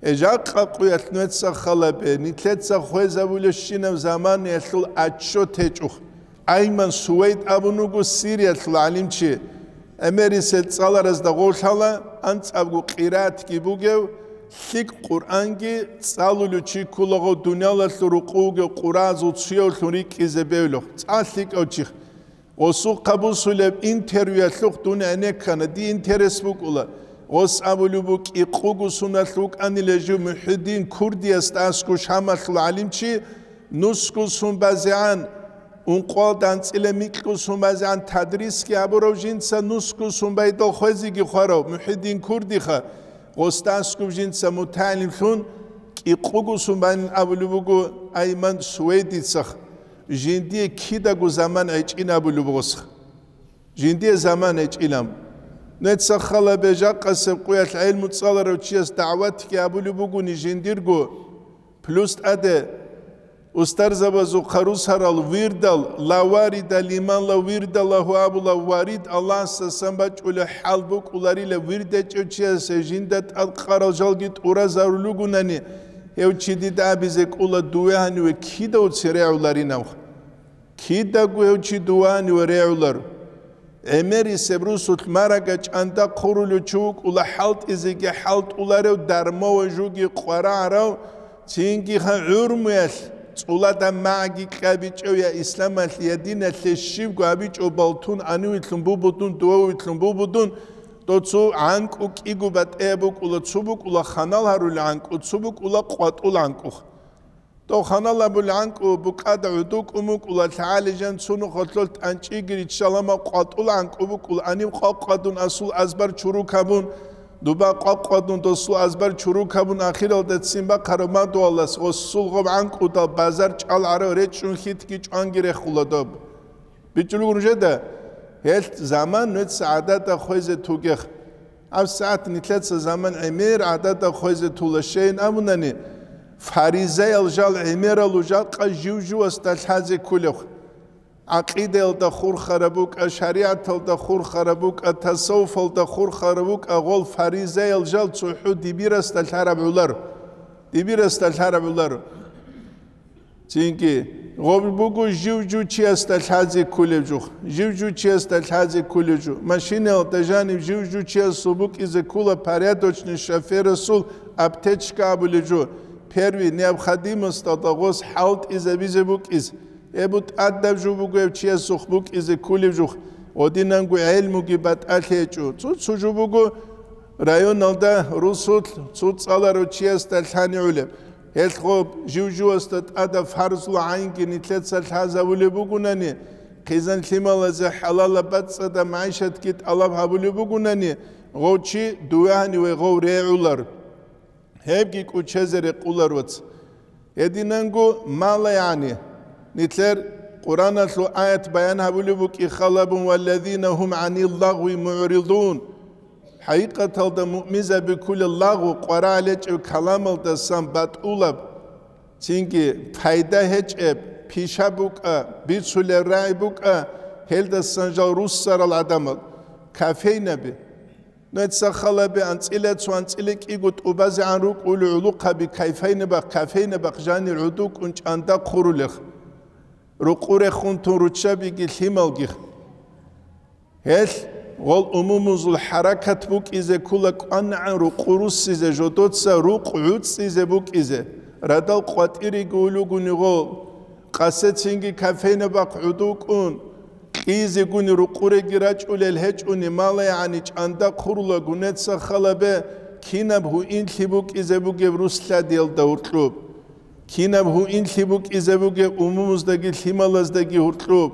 Э, жакъа къуялъ нугьеца халабе, нилъеца хвезабулебщинаб заманаялъул отчет гьечӀоха. Айман Сувайд абун вуго Сириялъул гӀалимчи. ГӀемерисел цӀаларазда гъолъала анцӀабго къиратги бугев, лъикӀ Къуръанги цӀалулев чи ккулаго дуниялалъул рукъу вугев къуразул цуявлъун рикӀкӀизе бевлъухъ. ЦӀа лъикӀав чихъ. Гъосухъа бусулеб интервьюялъухъ дун гӀенеккана, дие интерес букӀула. Гъос абулеб букӀи, кӀикъого суналъ вукӀанила жив МухӀиддин Курдиясда аскӀов Шамалъул гӀалимчи, нусго сун базегӀан, ункъоялда анцӀила микьго сун базегӀан тадрисги гьабурав жинца, нусго сун байдал хвезеги хварав МухӀиддин Курдиха, гъосда аскӀов жинца мутагӀилимлъун кӀикъого сун байнин абулеб буго Айман Сувейдицахъ. Жиндие кидаго заман гӀечӀин абулеб гъосха. Жиндие заман гьечӀилан. Нуца халабе жакъасеб къуялъ гӀелму цӀаларав чияс дагӀватги абулеб бугони жиндирго, плюс тӀаде устарзабазухъа русарал вирдал, ла варида лиман ла вирда лагьу абула, варид Аллагьасдасан бачӀулев хӀал букӀуларила, вирд гьечӀев чиясе жинда тӀадкъарал жалги тӀуразарулугунани, гьев чи дида абизе кӀула, дуе гьаниве кидавцин регӀуларинавха. Кидаго гьев чи дувани ва регӀулар. ГӀемерисеб русулъ марага чӀанда хъурулев чи вукӀула хӀалтӀизеги хӀалтӀуларев, дармав ва жуги къварагӀарав, цинги ха гӀурмуялъ цӀулада магӀги кьабичӀев, я исламалъе, я диналъе щибго гьабичӀо балтун, анивилъун бубудун, дувавилъун бубудун, дов цо гӀанкӀу кӀиго батӀияб букӀула, цо букӀула ханал гьарулел гӀанкӀу, цо букӀула къватӀул гӀанкӀуха. Дов ханал абулел гӀанкӀу букӀада гӀодов кӀун букӀула, лъагӀалижан цунухъалъул тӀанчӀиги риччалама къватӀул гӀанкӀу букӀула, аниб къвакъвадун асул азбар чурукабун, дуба къвакъвадун досул азбар чурукабун, ахиралда ццин бахъараб мадугьалас гъосул гъоб гӀанкӀудал базар чӀалгӀарав речӀчӀун хьитги чӀванги рехула доб. БичӀчӀулего нужеда, гьелъ заман нуца гӀадада хвезе тугех. ГьабсагӀат нилъеца заман гӀемер гӀадада хвезе тула, щайин абунани, фаризаял жал гӀемералу жакъа жив-живасда лъазе кколев. ГӀакъидаялда хурхараб букӀа, шаригӀаталда хурхараб букӀа, тасаввуфалда хурхараб букӀа, гъол фаризаял жал цохӀо дибирасда лъараб гӀоларо. Дибирасда лъараб гӀоларо. Цинги, гъоб буго жив-жив чиясда лъазе кколев жух, жив-жив чиясда лъазе кколев жух. Машинаялда жанив жив-жив чиясул букӀизе ккола порядочный шоферасул аптечка абулев жо, первый необходимосталда гъос хӀалтӀизабизе букӀиз. Эбу тӀадаб жо буго гьев чиясухъ букӀизе кколев жух, гъодинанго гӀелмуги батӀалъи гьечӀо. Цо-цо жо буго районалда русулъ цо цӀаларав чиясда лъани гӀолеб. Гьелъго жив-живасда тӀада фарзул гӀайнги нилъеца лъазавулеб бугунани, хъизан-лъималазе хӀалалаб бацӀцӀадаб магӀишатги тӀалаб гьабулеб бугунани, гъов чи дуве гьаниве гъов регӀулар. Гьебги кӀучезе рекъулар вац. Гьединанго мала, яни, нилъер Къуръаналъул аят баян гьабулеб букӀи халабун: «Валлазина гьум гӀанил лагъви мугӀридун». ХӀакъикъаталда муъминзаби кколел лагъу къварагӀел гьечӀеб каламалдасан батӀулаб, цинги пайда гьечӀеб, пиша букӀа, бицулеб рагӀи букӀа, гьелдасан жал руссарал гӀадамал, кофейнаби. Нуца халаби анцӀила цо анцӀила кӀиго тӀубазегӀан рукӀули гӀулухъаби кофейнабахъ, кофейнабахъ жанир гӀодов кӀун чӀанда хъурулех, рукъу рехун тун руччабиги лъималгих. Гьелъ гъол умумузул хӀаракат букӀизе ккола кӀванагӀан рукъу руссизе, жодоца рукъ гӀуцӀизе букӀизе, радал къватӀириги улугуни гъол, къасецинги кофейнабахъ гӀодов кӀун, кьизегуни рукъуреги рачӀулел гьечӀони, мала, яни, чӀанда хъурулаго нуца халабе, кинаб гьуинлъи букӀизе бугеб рус лъадиялда гьуркьуб. Кинаб гьуинлъи букӀизе бугеб умумуздаги лъималаздаги гьуркьуб.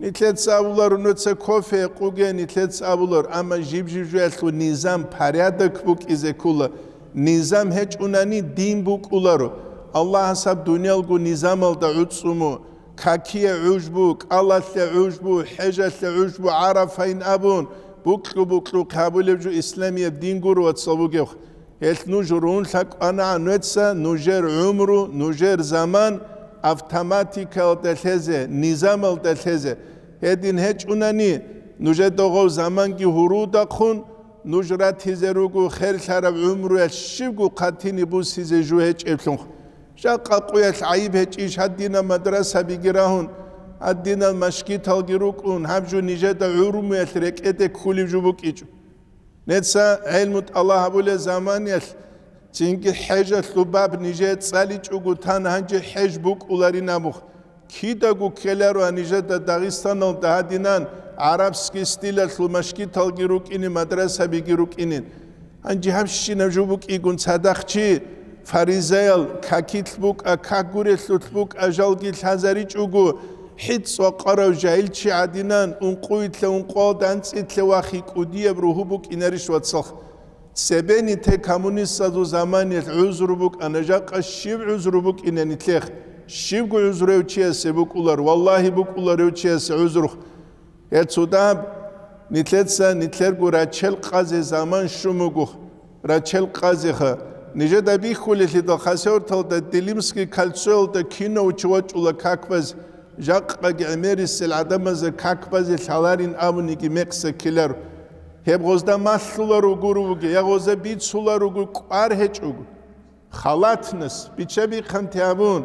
Нилъеца абуларо нуца кофе гьекъуге, нилъеца абуларо, амма жиб-жиб жуялъул низам, порядок букӀизе ккола. Низам гьечӀунани дин букӀуларо. Аллагьас гьаб дуниялго низамалда гӀуцӀцӀумо, какие гӀужбу, кӀалалъе гӀужбу, хӀежалъе гӀужбу, ГӀарафайин абун, букьу-букьухъ гьабулеб жо исламияб дин гуро, вацал, бугеб. Гьелъ нуж рун лъакӀванагӀан нуца нужер гӀумру, нужер заман автоматикаялда лъезе, низамалда лъезе. Гьедин гьечӀунани, нужеда гъов заманги гьурудахъун, нуж ратизе руго херлъараб гӀумруялъ щибго хъатине буссизе жо гьечӀеблъун. Жакъа къуялъ гӀайиб гьечӀищ гьадинаб мадрасабиги рагьун, Гьадинал машгиталги рукӀун, гьаб жо нижеда гӀурумуялъ рекӀеде ккулеб жо букӀичӀо. Неца гӀелму тӀалаб гьабулел заманиялъ, цинги хӀежалъул баб нижее цӀаличӀого тан, гьанже хӀеж букӀуларин абухъ. Кидаго ккеларо нижеда Дагъистаналда гьадинан гӀарабский стилалъул машгиталги рукӀинин, мадрасабиги рукӀинин. Гьанже гьабщинаб жо букӀигун цадахъ чи, фаризаял, какилъ букӀа, как гурелъулъ букӀа, жалги лъазаричӀого, хӀицӀ вакъарав жагьил чи гӀадинан, ункъуйлъа ункъуялда анцӀилъа вахи кӀудияб ругьу букӀинарищ, вацалха? Цебе нилъее коммунистазул заманиялъ гӀузр букӀана, жакъа щиб гӀузр букӀина нилъехъ? Щибго гӀузрев чиясе букӀулар, валлагьи, букӀуларев чиясе гӀузрухъ. Гьецо даб, нилъеца нилъерго рачел къазе заман щун буго, рачел къазеха. Нижеда бихьулелъидал хасавюрталда Делимский кольцоялда кино вачӀула какбаз, жакъаги гӀемерисел гӀадамазда какбазе лъаларин абуниги мекъса ккеларо. Гьеб гъозда малъуларо гуро буго, я гъозда бицуларо гуро, кӀвар гьечӀого. Халатнас, бича-бихъанти гьабун,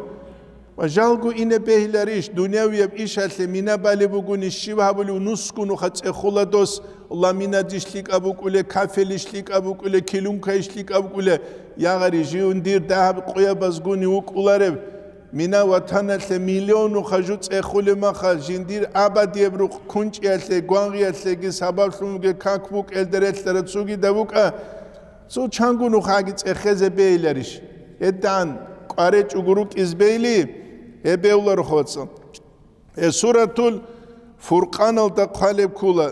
ва жалго ине бегьиларищ, дунявияб ишалъе мина балеб бугони щиб гьабулев нусгунуха цӀехула дос, ламинадиш лъикӀаб букӀуле, кафелиш лъикӀаб букӀуле, килункаиш лъикӀаб букӀуле, ягъари жиндир дагьаб къоябазгуни вукӀуларев, мина ватаналъе миллионуха жу цӀехулеб маха, жиндир абадияб рукъ кунчӀиялъе, гвангъиялъеги сабаблъун бугеб как букӀелда релълъараб цогидаб букӀа, Цо чанго нухаги цӀехезе бейиларищ? ГьедигӀан кӀваречӀого рукӀиз бейли, гьеб бевларухъ, вацал. Гье, Суратул Фуркъаналда хъвалеб ккола,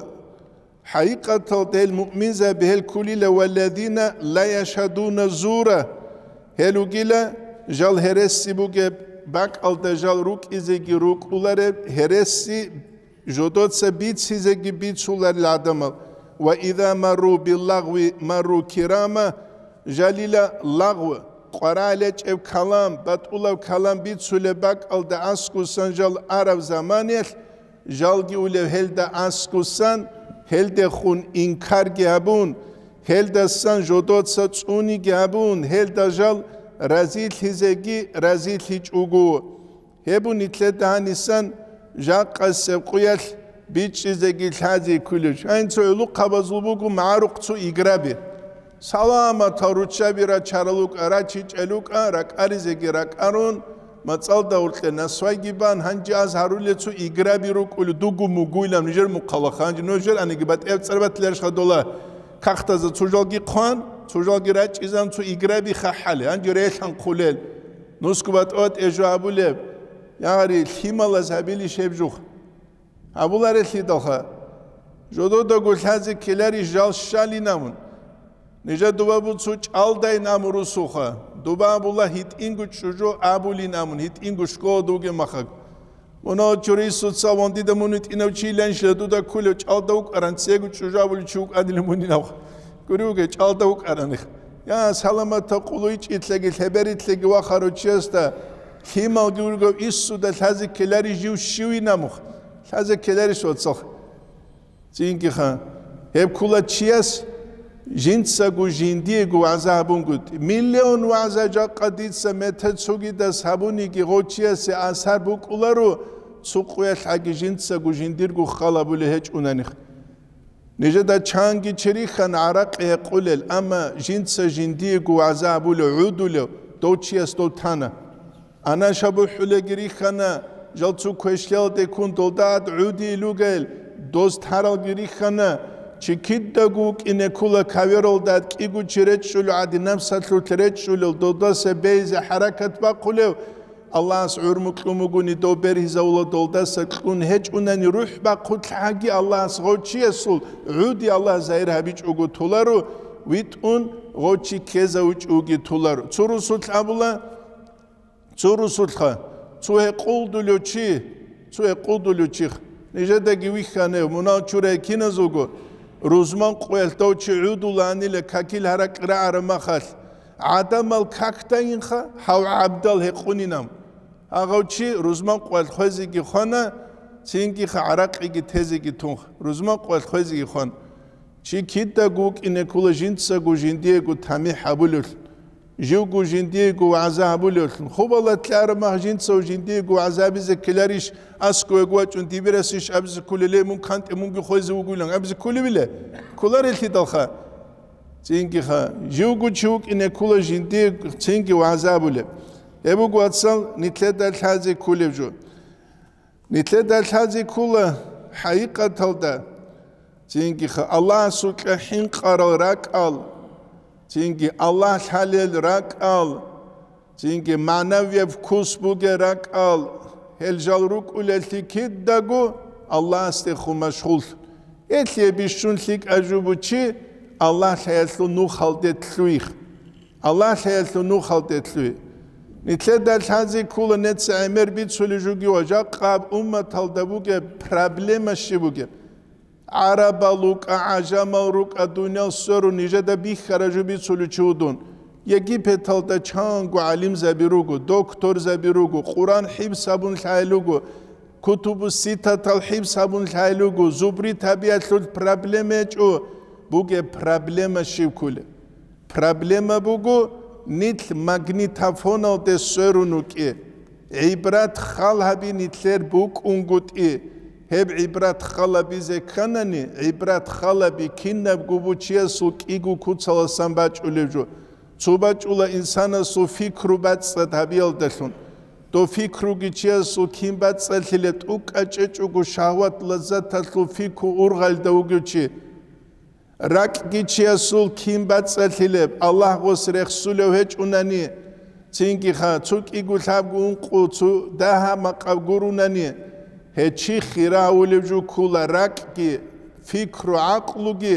хӀакъикъаталда гьел муъминзаби гьел кколила: «Валладина ла яшгьадуна зура», гьел ругила жал гьереси бугеб, бакӀалда жал рукӀизеги рукӀулареб гьереси жодоца бицизеги бицуларел гӀадамал, ва иза марру биллагъви марру кирама, жалила лагъв, къварагӀел гьечӀеб калам, батӀулаб калам бицулеб бакӀалда аскусан жал араб заманиялъ, жалги улев гьелда аскусан, гьелдехун инкарги гьабун, гьелдасан жодоца цӀуниги гьабун, гьелда жал разилъизеги разилъичӀого. Гьеб бу нилъеда гьанисан жакъасеб къуялъ бичӀчӀизеги лъази кколеб. Гьанцо гӀулухъабазул буго магӀарухъ цо играби. Саламатал руччаби рачарал рукӀа, рачичӀел рукӀа, ракӀаризеги ракӀарун, мацӀалда гьоркье насвайги бан, гьанже аз гьарулел цо играби рукӀулев, дугу-мугуйлан нижер мухъалахъ, гьанже нужер аниги батӀияб цӀар батиларищха дола кагътазда цо жалги хъван, цо жалги рачӀизан цо играби хахӀале, гьанже релъанхъулел. Нусгу батӀа-батӀе жо абулеб, ягъари лъималаз гьабилищ гьеб жух? Гьабуларелъидалха, жододаго лъазе ккеларищ жал щалин абун. Нижа дуба буцу чӀалдайин абун русуха, дуба абула гьитӀинго чӀужу абулин абун, гьитӀинго школада вугеб махаг. Мунагьал чурисуца вандида мун витӀинав чи ланщила дуда ккулев чӀалда вукӀаран, цего чӀужу абулев чи вукӀанилан мунин абха. Гури вуге, чӀалда вукӀараних. Я, саламатаб къулайчӀилъаги лъеберилъаги вахарав чиясда лъималги вуго, иссуда лъазе ккелари жив щивин абуха. Лъазе ккеларищ, вацалха? Цинги ха. Гьеб ккола чияс жинцаго жиндиего вагӀза гьабунгутӀи. Миллион вагӀза жакъа дица метер цогидас гьабуниги гъов чиясе асар букӀуларо, цо къуялъ гьаги жинцаго жиндирго хал гьабулеб гьечӀунанихъ. Нижеда чанги чи рихьана гӀаракъи гьекъулел, амма жинца жиндиего вагӀза гьабулев, гӀудулев дов чияс дов тана. Анаш абухӀулаги рихьана, жал цо квешлъиялде ккун долда гӀад гӀудийл ругел, доз таралги рихьана, чи кидаго вукӀине ккола кавералда гӀад кӀиго чи речӀчӀулев, гӀади напсалъулъ речӀчӀулел, долдаса бейзе хӀаракат бахъулев, Аллагьас гӀурму кьун бугони дов бергьизавула, долдаса кьун гьечӀунани рухӀ бахъулъ гьаги Аллагьас гъов чиясул гӀуди Аллагь загьир гьабичӀого толаро, витӀун гъов чи ккезавичӀоги толаро. Цо русулъ абула, цо русулъха, цо гьекъулдулев чи, цо гьекъулдулев чих. Нижедаги вихьанев, мунагьал чурай киназулго, рузман къоялъ дов чи гӀудуланила какил гьаракь рагӀараб махалъ, гӀадамал какдайинха, гьав гӀабдал гьекъунинам. Гьагъав чи рузман къоялъ хвезеги хвана, цинги ха гӀаракъиги тезеги тунха, рузман къоялъ хвезеги хвана. Чи кидаго вукӀине ккола жинцаго жиндиего тамихӀ гьабулевлъун. Живго жиндиего вагӀза гьабулевлъун. Хубалат лъараб мах жинцав жиндиего вагӀза абизе ккеларищ, аскӀовеги вачӀун дибирасищ абизе кколел, мун кантӀе мунги хвезе вугилан абизе кколевила? Кколарелъидалха. Цинги ха, живго чи вукӀине ккола жиндие цинги вагӀза абулеб. Гьеб буго, вацал, нилъеда лъазе кколеб жо. Нилъеда лъазе ккола хӀакъикъаталда, цинги ха, Аллагьасукьа хӀинкъарал ракӀал, цинги Аллагь лъалел ракӀал, цинги магӀнавияб вкус бугел ракӀал, гьел жал рукӀулеллъи кидаго Аллагьасдехун машгъул. Гьелъие бищун лъикӀа жубу чи Аллагь лъаялъул нухалде лъуйихъ. Аллагь лъаялъул нухалде лъуй. Нилъеда лъазе ккола неца гӀемер бицулей жуги ва жакъаб умматалда бугеб проблема щиб бугеб. ГӀарабал рукӀа, гӀажамал рукӀа, дуниял сверун нижеда бихьара жо бицулев чи вугун. Египеталда чанго гӀалимзаби руго, докторзаби руго, Къуран хӀифз гьабун лъайил руго, кутубу ситатал хӀифз гьабун лъайил руго, зубри табиялъул проблема гьечӀо, бугеб проблема щиб кколеб? Проблема буго, нилъ магнитофоналде сверун вукӀи. ГӀибрат хал гьаби нилъер букӀунгутӀи. Гьеб гӀибрат хал гьабизе кканани, гӀибрат хал гьаби кинабго бучиясул кӀиго куцаласан бачӀулев жо. Цо бачӀула инсанасул фикру бацӀцӀад гьабиялдалъун. Дов фикруги чиясул кин бацӀцӀалъилеб, тӀукӀа чӀечӀого шагьват-лаззаталъул фикру ургъалда вугев чи. РакӀги чиясул кин бацӀцӀалъилеб, Аллагь гъос рехсулев гьечӀунани, цинги ха, цо кӀиго лъабго ункъо, цо дагьа макъаб гурунани, гьев чи хира гьавулев жо ккола, ракӀги, фикру-гӀакълуги,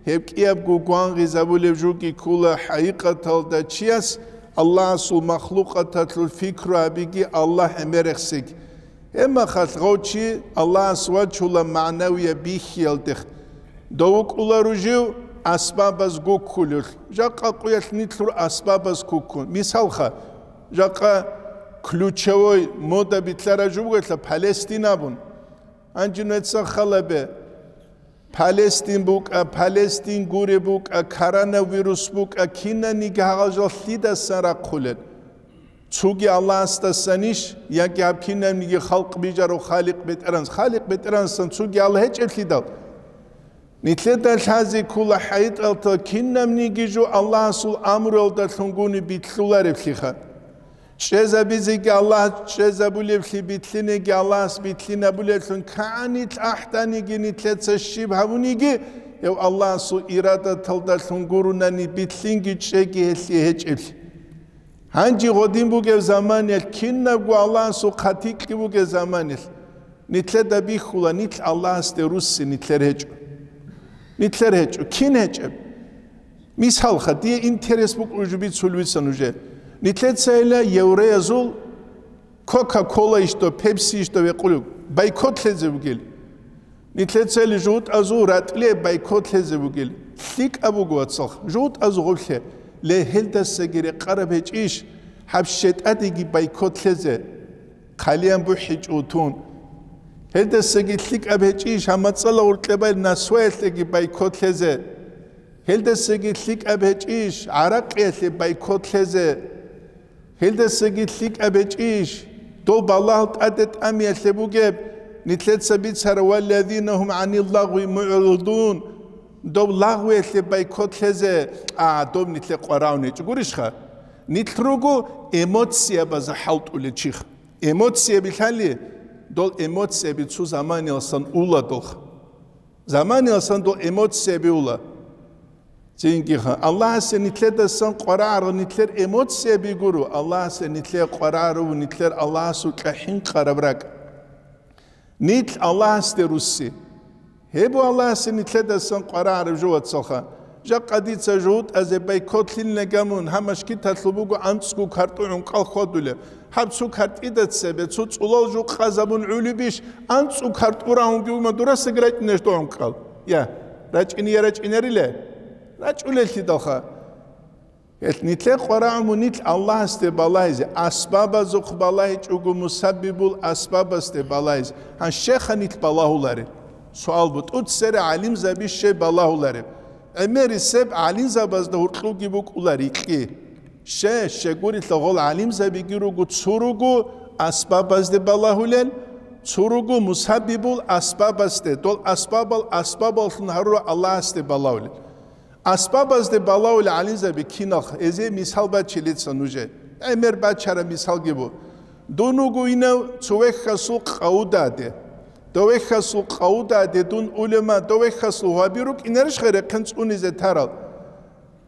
гьеб кӀиябго гвангъизабулев жоги ккола хӀакъикъаталда чияс Аллагьасул махлукъаталъул фикру гьабиги, Аллагь гӀемерехсеги. Гьебмахалъ гъов чи Аллагьас вачула магӀнавияб бихьиялдехъ. Дов вукӀула ружив асбабаз гуккулев. Жакъа къуялъ нилъур асбабаз куккун. Мисалха, жакъа ключевой мода битлъараб жо бугелъа Палестин абун. Гьанже нугӀеца халабе. Палестин букӀа, Палестин гуре букӀа, коронавирус букӀа, кинаниги гьагъал жал лъидасан рахъулел? Цоги Аллагьасдасанищ, яги гьаб кинабниги халкъ бижарав Халикъ БетӀеран-, Халикъ БетӀергьанасдасан цоги Аллагь гьечӀеблъидал? Нилъеда лъазе ккола хӀакъикъаталда кинабниги жо Аллагьасул амруялдалъун гуни битлъулареблъиха. ЧӀезабизеги Аллагь чӀезабулеблъи, битлъинеги Аллагьас битлъинабулеблъун кагӀанилъ ахӀданиги нилъеца щиб гьабуниги, гьев Аллагьасул ирадаталдалъун гурунани битлъинги чӀеги гьелъие гьечӀеблъи. Гьанже гъодин бугеб заманиялъ, кинабго Аллагьасул хъатикьги бугеб заманиялъ, нилъеда бихьула, нилъ Аллагьасде русси нилъер гьечӀо. Нилъер гьечӀо. Кин гьечӀеб? Мисалха, дие интерес букӀулеб жо бицулеб бица нужее. Нилъецайила евреязул Кока-Кола ишдо, Пепси ишдо векъулеб, бойкот лъезе бугел. Нилъецайила жугьутӀазул ратӀлие бойкот лъезе бугел. ЛъикӀаб буго, вацалха, жугьутӀазул гъоблъе, ле, гьелдасаги рекъараб гьечӀищ гьаб щетӀадеги бойкот лъезе, хъалиян бухӀичӀо тун. Гьелдасаги лъикӀаб гьечӀищ гьаб мацӀала гъоркье байл насваялъеги бойкот лъезе. Гьелдасаги лъикӀаб гьечӀищ гӀаракъиялъе бойкот лъезе. Гьелдасаги лъикӀаб гьечӀищ дов балагьал тӀаде тӀамиялъе бугеб, нилъеца бицара: «Валлазина гьум гӀанил лагъви мугӀридун», дов лагъвиялъе бойкот лъезе, а, доб нилъе къварагӀун гьечӀо. Гурищха? Нилъ руго эмоциябазда хӀалтӀулел чихъ. Эмоцияби лъали, дол эмоцияби цо заманиялсан ула долха. Заманиялсан дол эмоцияби ула. Цинги ха, Аллагьасе нилъедасан къварагӀарав нилъер эмоцияби гуро, Аллагьасе нилъее къварагӀарав нилъер Аллагьасукьа хӀинкъараб ракӀ. Нилъ Аллагьасде русси. Гьеб Аллагьасе нилъедасан къварагӀараб жо, вацалха. Жакъа дица жугьутӀазе байкотлъилин гамун, гьаб машгиталъул буго анцӀго картӀу гӀункъал хьвадулеб. Гьаб цо картӀида цебе, цо цӀулал жо къазабун гӀолебищ, анцӀго картӀу рагьунги вума дурасаги рачӀунеш догӀункъал? Я, рачӀине я рачӀинарила? РачӀулеллъидалха. Гьелъ нилъер къварагӀуму нилъ Аллагьасде балагьизе, асбабазухъ балагьичӀого, мусаббибул асбабасде балагьизе. Гьан щеха нилъ балагьуларел? Суал бу, тӀуцере гӀалимзаби щай балагьулареб? ГӀемерисеб гӀалимзабазда гьуркьуги букӀула рикьи. Ще, щегурилъа гъол гӀалимзабиги руго цо руго асбабазде балагьулел, цо руго мусаббибул асбабазде, дол асбабал асбабаллъун гьарура Аллагьасде балагьулел. Асбабазде балагьулел гӀалимзаби киналха, эзе мисал бачилица нужее. ГӀемер бачара мисалги бу. Дун вуго инав цо вехьасул къавудаде. Дов вехьасул къавудаде дун улема, дов вехьасул гьаби рукӀинарищ хай рехъен цӀунизе тарал?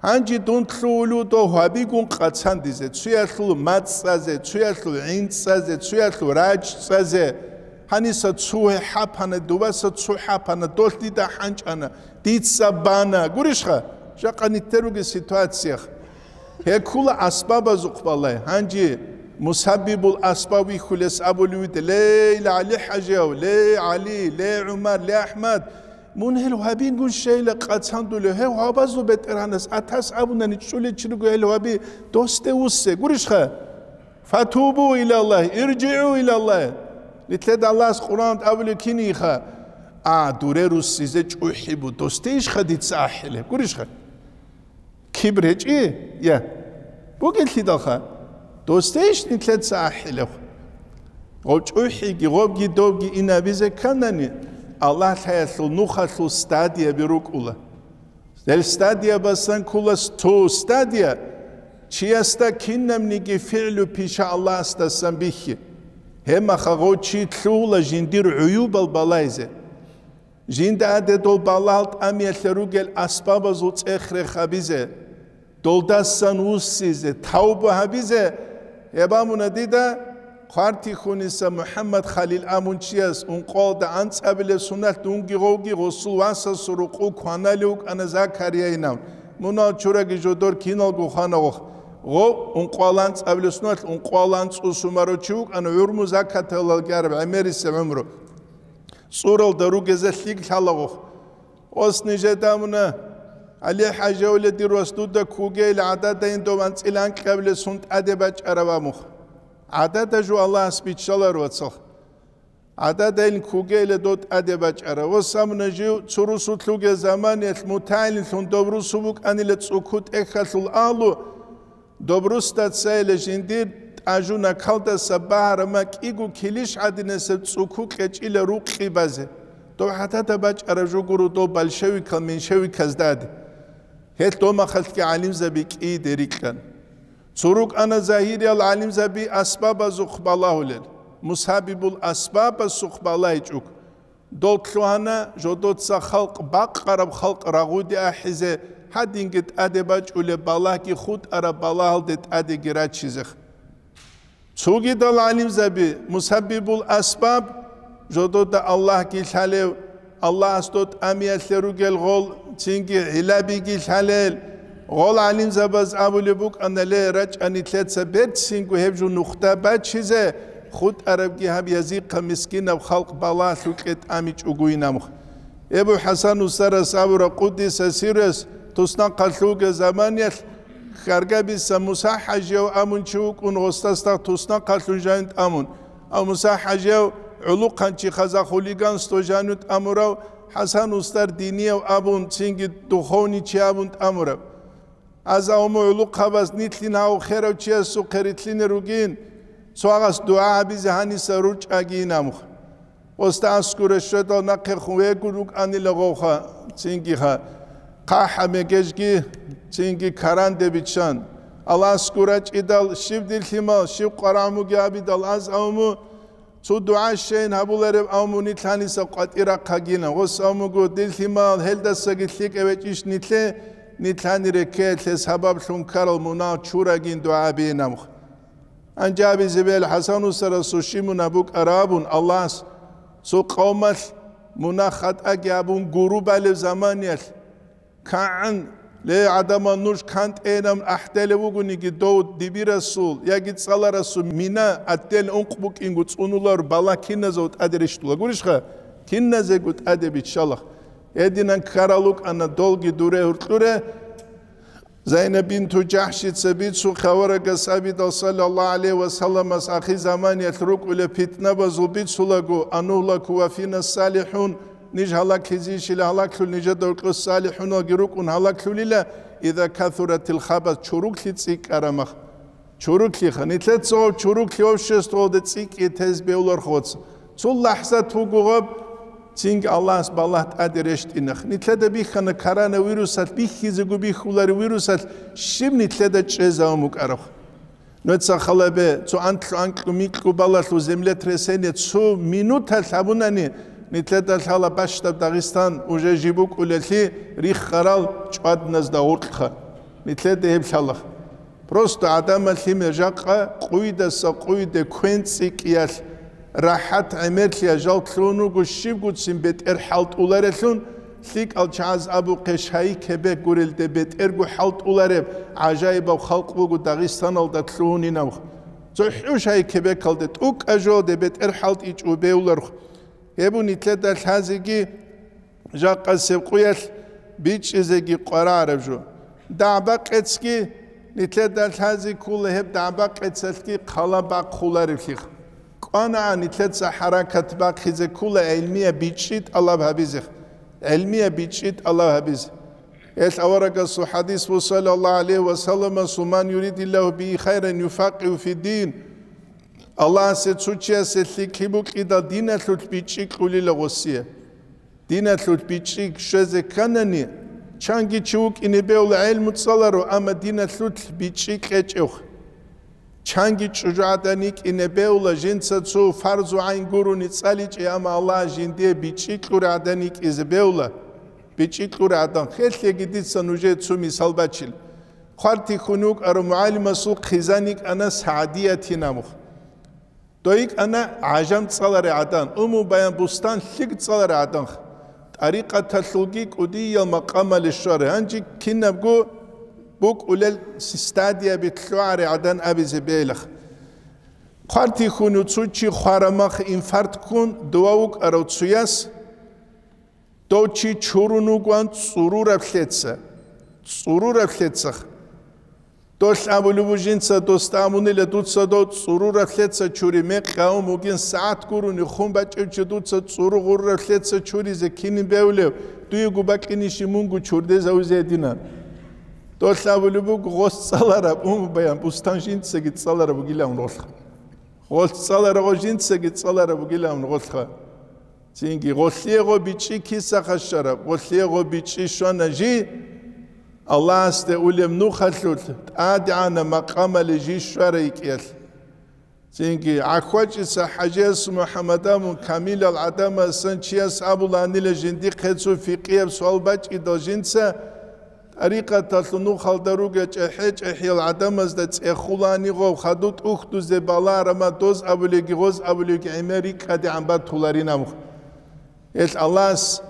Гьанже дун лъугьулев дов гьабигун къацандизе, цуялъул мацӀ цӀазе, цуялъул гӀин цӀазе, цуялъул рачӀ цӀазе. Гьаниса цо гьапана, дубаса цо хӀапана, долъ дида хӀанчӀана, дица бана. Гурищха? Жакъа нитер ругел ситуациях. Гьекула асбабазухъ балай. Гьанже мусаббибул асбаб вихьулес абулев виде, ле, ГӀали хӀажияв, ле, ГӀали, ле, ГӀумар, ле, АхӀмад, мун гьел гьабингун щейила къацандулев, гьев гьабазул бетӀергьанас атас абунани чӀулей чи руго гьел гьаби, досде вуссе, гурищха? Фатубу илаллагь, иржигӀу илаллагь. Нилъеда Аллагьас Къуръан абулев киниха? А, дуре руссизе чӀухӀи бу, досде ишха дица ахӀилеб, гурищха? Кибр гьечӀи? Я. Бугелъидалха, досдейищ нилъеца ахӀилев? Гъов чӀухӀиги, гъовги довги инабизе кканани, Аллагь лъаялъул нухалъул стадияби рукӀула. Гьел стадиябасан ккола цо стадия, чиясда кинабниги фигӀлу пиша Аллагьасдасан бихьи. Гьебмаха гъов чи лъугьула жиндир гӀуюбал балайзе. Жинда гьаде дол балагьал тӀамиялъе ругел асбабазул цӀех-рех гьабизе, долдасан вуссизе, тавба гьабизе. Гьеб абуна дида Хъвартихьуниса МухӀаммад Халил абун чияс, ункъоялда анцӀабилеб соналъ дунги гъовги гъосул васасул рукъу кваналев вукӀана Закарияйин абун. Мунал чураги жодор киналго хвана гъох. Гъов ункъоялда анцӀабилеб соналъ ункъоялда анцӀу сумаро чи вукӀана, гӀумру закаталалги араб гӀемерисеб гӀумру. ЦӀуралда ругеза лъикӀ лъалагъухъ. Ос нижеда амуна, ГӀали хӀажи авле дир вас дуда ккугейил гӀададайин дов анцӀила анкьабилесун тӀаде бачӀараб амухъ. ГӀадада жо Аллагьас биччалар, вацалъ. ГӀададайин ккугейила дов тӀаде бачӀараб. Ос амуна жив цо русулъуге заманиялъ мутагӀилинлъун дов русу букӀанила цӀукутӀехьалъул агьлу, Доб русда цайила жиндир тӀажу накалдаса багьараб макӀиго килищ гӀадинасеб цӀуку кьечӀила рукъи базе. Доб гӀадада бачӀараб жо гуро доб большевикал меньшевиказда гӀади. Гьелъ домахалъги гӀалимзаби кӀийде рикьана. Цо рукӀана загьириял гӀалимзаби асбабазухъ балагьулел, мусабибул асбабасухъ балагьичӀого. Дол лъугьана жодоца халкъ бакъараб халкъ рагъуде ахӀизе, гьадинги тӀаде бачӀулеб балагьги хутӀараб балагьалде тӀадеги раччизе. Цогидал гӀалимзаби мусаббибул асбаб, жодода Аллагьги лъалев, Аллагьас доб тӀамиялъе ругел гъол, цинги гӀилабиги лъалел, гъол гӀалимзабаз абулеб букӀана, ле, рачӀа нилъеца берцинго гьеб жо нухда бачизе, хутӀарабги гьаб язихъа мискинаб халкъ балагьлъукье тӀамичӀогойин амухъ. Эбу ХӀасан устарас абура, къуддиса сиррас, туснахъалъувги заманиялъ Хьаргабиса Муса хӀажияв абун чи вукӀун, гъосдасда туснахъалъун жанив тӀамун. Ав Муса хӀажияв гӀулухъанчи хаза хулиганство жанив тӀамурав, ХӀасан устар динияв абун, цинги духовничи абун тӀамурав. Аз авму гӀулухъабаз нилъин гьав херав чиясухъе рилълъине ругин, цо гьагъас дугӀа гьабизе гьаниса ручӀагийин амухъ. Гъосда аскура щведал нахъехун вегун вукӀанила гъовха, цингиха, хъахӀа мегежги, цинги каранде биччан. Аласкура чӀидал щиб дир лъимал, щиб къварагӀмуги абидал аз авму, цо дугӀа щейин гьабуларев авму нилъаниса къватӀирахъагина. Гъос авмуго дир лъимал, гьелдасаги лъикӀа вечӀищ нилъе, нилъани реккеялъе сабаблъун ккарал мунагь чурагин дугӀа бейин амх. Анжаби зебел ХӀасан устарасул щиб мунагь букӀараб абун, Аллагьас цо къавмалъ мунагь хатӀаги абун гуру балев заманиялъ, кагӀан, ле, гӀадамал, нуж кантӀейилан ахӀделев вугониги, дов дибирасул яги цӀаларасул мина, отдельно ункъ букӀинго цӀунулар бала киназего тӀаде рещтӀула гурищха? Киназего тӀаде биччалах. Гьединан ккарал рукӀана долги дуре гьуркьуре, Зайнаб бинту Жахшица бицун, хаварагас абидал саллаллагьу гӀалайгьи ва салламас ахирзаманиялъ рукӀулеб питнабазул бицулаго, анугьлаку ва фина салихӀун, Ниж гьалаглъизейищила гьалаглъул, нижеда гьоркьор салихӀуналги рукӀун гьалаглъулила, иза касуратил хабас, чуруклъи цӀикӀкӀарамах. Чуруклъиха, нилъеца гьав чуруклъи обществоялда цӀикӀкӀи тез бевлархуц. Цул лахӀзат вуго гъаб, цинги Аллагьас балагь тӀаде рещтӀинах. Нилъеда бихьана коронавирусалъ бихьизего бихьуларев вирусалъ щиб нилъеда чӀезавун букӀараб? Нуца халабе, цо анлъу-анкьу-микьу балалъул землетрясение цо минуталъ гьабунани, нилъеда лъала бащдаб Дагъистан уже жиб букӀулелъи риххарал чӀвадназда гъоркьха. Нилъеда гьеб лъалаха. Просто гӀадамал лъимер жакъа къуйдаса къуйде квен цӀикӀкӀиялъ рахӀат гӀемерлъи жал лъугьун руго щибгуцин бетӀер хӀалтӀуларелъун, лъикӀал чагӀаз абухъе, шайи кебе гурелде бетӀерго хӀалтӀулареб гӀажаибаб халкъ буго Дагъистаналда лъугьунинаб. ЦохӀу шайи кебекалде тӀукӀа жоде бетӀер хӀалтӀичӀо бевларх. Гьеб нилъеда лъазеги жакъасеб къуялъ бичӀчӀизеги къварагӀараб жо. ДагӀба-къецги нилъеда лъазе ккола, гьеб дагӀба-къецалъги хъала бахъулареблъи. КӀванагӀан нилъеца хӀаракат бахъизе ккола гӀилмияб бичӀчӀи тӀалаб гьабизе. ГӀилмияб бичӀчӀи тӀалаб гьабизе. Гьелъ аварагасул хӀадис буго, саллаллагьу гӀалайгьи ва саллама: «Ман юридиллагьу бигьи хайран юфаккигьу фиддин». Аллагьасе цо чиясе лъикӀлъи букьидал диналъулъ бичӀчӀи кьулила гъосие. Диналъулъ бичӀчӀи щвезе кканани, чанги чи вукӀине бевла гӀелму цӀаларо, амма диналъулъ бичӀчӀи кьечӀев. Чанги чӀужугӀадан йикӀине бевла, жинца цо фарзу гӀайн гурони цӀаличӀей, амма Аллагь жиндие бичӀчӀи кьурагӀадан йикӀизе бевла, бичӀчӀи кьурагӀадан. Хелъеги дица нужее цо мисал бачил. Хъвартихьун вукӀарав мугӀалимасул хъизан йикӀана СагӀдиятин абун. Дой йикӀана гӀажам цӀаларай гӀадан, Умму Баян Бустан лъикӀ цӀаларай гӀадан, тӀарикъаталъулги кӀудиял макъамали щварай, гьанже кинабго букӀулел стадияби лъугӀарай гӀадан абизе бегьилаха. Хъвартихьун цо чи хварамах инфаркт ккун дова вукӀарав цояс, дов чи чурун вугоан цӀурураб лъеца, цӀурураб лъецах. Долъ абулеб буго жинца досда абунила: «Дуца дов цӀурураб лъеца чури, мекъи гьавун бугин, сагӀат гурони хун бачӀев чи дуца цӀуру гъурраб лъеца чуризе кинин бевлев, дуего бакӀинищи мунго чурдезавизе гьединан». Долъ абулеб буго: «Гъос цӀалараб, Умму Баян Бустан жинцаги цӀалараб бугилан ролъха. Гъос цӀалараб жинцаги цӀалараб бугилан ролъха». Цинги гъолъие гъо бичӀчӀи киса хъащараб, гъолъие гъо бичӀчӀи щвана жи, Аллагьасде улеб нухалъулъ тӀадегӀанаб макъамали жи щварай йикӀиялъ. Цинги ГӀахьвачӀица ХӀажияс МухӀаммад абун камилал гӀадамасан чияс абуланила жиндихъе цо фикъияб суал бачӀидал жинца, тӀарикъаталъул нухалда ругел чӀехӀе-чӀехӀиял гӀадамазда цӀехулани гъов, хадув тӀухьдузе баларама доз абулеги гъоз абулеги гӀемер рикӀкӀадегӀан батуларинаб. Гьелъ Аллагьас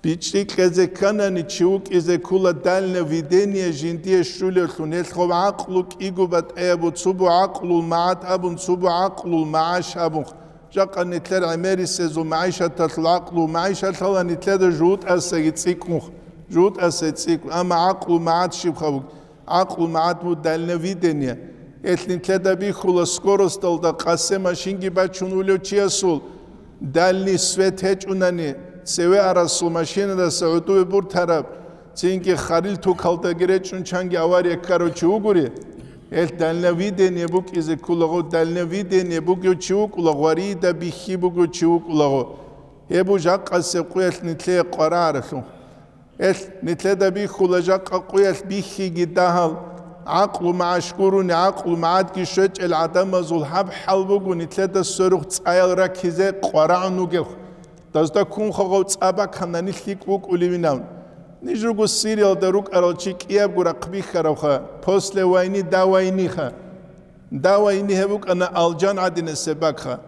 бичӀчӀи кьезе кканани, чи вукӀизе ккола дальновидение жиндие щулевлъун, гьелъ гъов гӀакълу кӀиго батӀаябу, цо бу гӀакълул магӀат абун, цо бу гӀакълул магӀаш абун. Жакъа нилъер гӀемерисезул магӀишаталъул гӀакълу, магӀишаталъа нилъеда жугьутӀасаги цӀикӀкӀун, жугьутӀасаги цӀикӀкӀун, амма гӀакълу магӀат щибха буго? ГӀакълу магӀат буго дальновидение. Гьелъ нилъеда бихьула скоросталда къасе машинги бачун улев чиясул, дальний свет гьечӀунани, цеве арасул машинадаса гӀодове буртараб, цинги харил тукалдаги речӀчӀун чанги авария ккарав чи вугури, гьелъ дальновидение букӀизе кколаго, дальновидение бугев чи вукӀулаго, гъварида бихьи бугев чи вукӀулаго. Гьеб бу жакъасеб къуялъ нилъее къварагӀаралъугьун. Гьелъ нилъеда бихьула жакъа къуялъ бихьиги дагьал, гӀакълу магӀаш гурони, гӀакълу магӀадги щвечӀел гӀадамазул гьаб хӀал буго нилъеда сверухъ цӀаял раккизе къварагӀун вугев. Дазда ккунха гъов цӀа баканани лъикӀ вукӀуливинав. Ниж руго Сириялда рукӀарал чи кӀиябго рахъ бихьаравха, после войны, до войныха. До войны гьеб букӀана алжан гӀадинасеб бакха.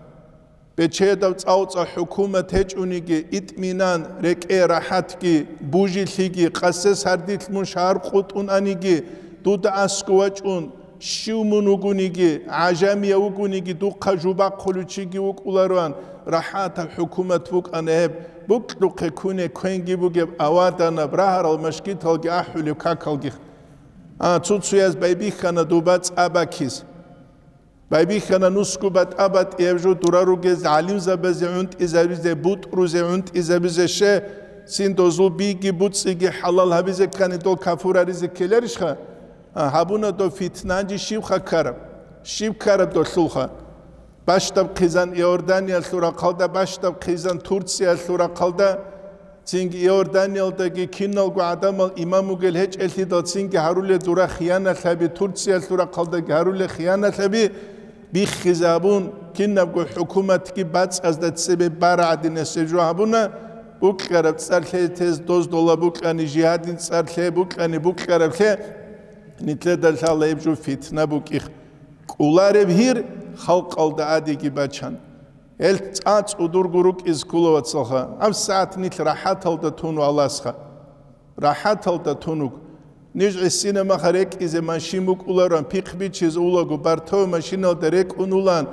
Бечедав цӀалцӀа хӀукумат гьечӀониги, итӀминан, рекӀее рахӀатги, бужилъиги, къасес гьардилъ мун шагьар къутӀун аниги, дуда аскӀов вачӀун, щив мун вугониги, гӀажамияв вугониги, духъа жубахъулев чиги вукӀулароан, рахӀатаб хӀукумат букӀана гьеб, букьухъе ккуне квенги бугеб аваданаб, рагьарал машгиталги ахӀулеб какалги. А, цо-цояз байбихьана дуба цӀа бакиз. Байбихьана нусго батӀа-батӀияб жо дура ругез гӀалимзабазе гӀунтӀизабизе, бутӀрузе гӀунтӀизабизе, ще, цин дозул биги буцӀиги хӀалал гьабизе ккани, дол кафур гьаризе ккеларищха? А, гьабуна дов фитнанчи щибха ккараб? Щиб ккараб долъулха? Бащдаб хъизан Иорданиялъул рахъалда, бащдаб хъизан Турциялъул рахъалда, цинги Иорданиялдаги киналго гӀадамал имам вугел гьечӀелъидал цинги гьаруле дура хияналъаби, Турциялъул рахъалдаги гьаруле хияналъаби, биххизабун, кинабго хӀукуматги бацӀазда цебе бара гӀадинасеб жо гьабуна, букьараб цӀар лъе тез доздола букьани, жигьадин цӀар лъе букьани, букьараб лъе, нилъеда лъала гьеб жо фитна букӀих. КӀолареб гьир халкъалда адиги бачан. Гьел цӀа цӀудурго рукӀиз ккола, вацалха. ГьабсагӀат нилъ рахӀаталда тун валасха. РахӀаталда тунуг. Ниж гӀисина маха рекӀизе машин букӀуларан, пихъ бичиз улаго, бартав машиналда рекӀун улан,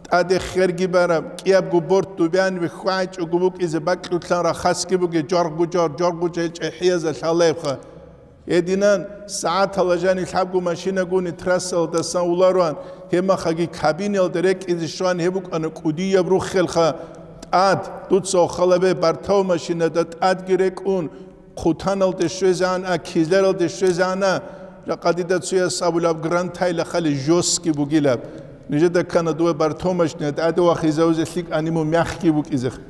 тӀаде херги бараб, кӀиябго борт дубян вихьвагӀичӀого букӀизе бакьулъан рахасги буге, жоргъу-жор, жоргъу-жел чӀехӀияза лъалаебха. Гьединан, сагӀатала жани лъабго машинагуни трассалдасан уларуан, гьебмахаги кабиналда рекӀизе щван гьеб букӀана кӀудияб руххелха, тӀад, дуца охалабе бартав машинада тӀадги рекӀун, хъутаналде щвезегӀан а, кизлералде щвезегӀан а, жакъа дида цуяс абулаб грантайла хали жёсткий бугилаб. Нижеда ккана дуе бартав машина тӀаде вахизавизе лъикӀани мун мягкий букӀизех.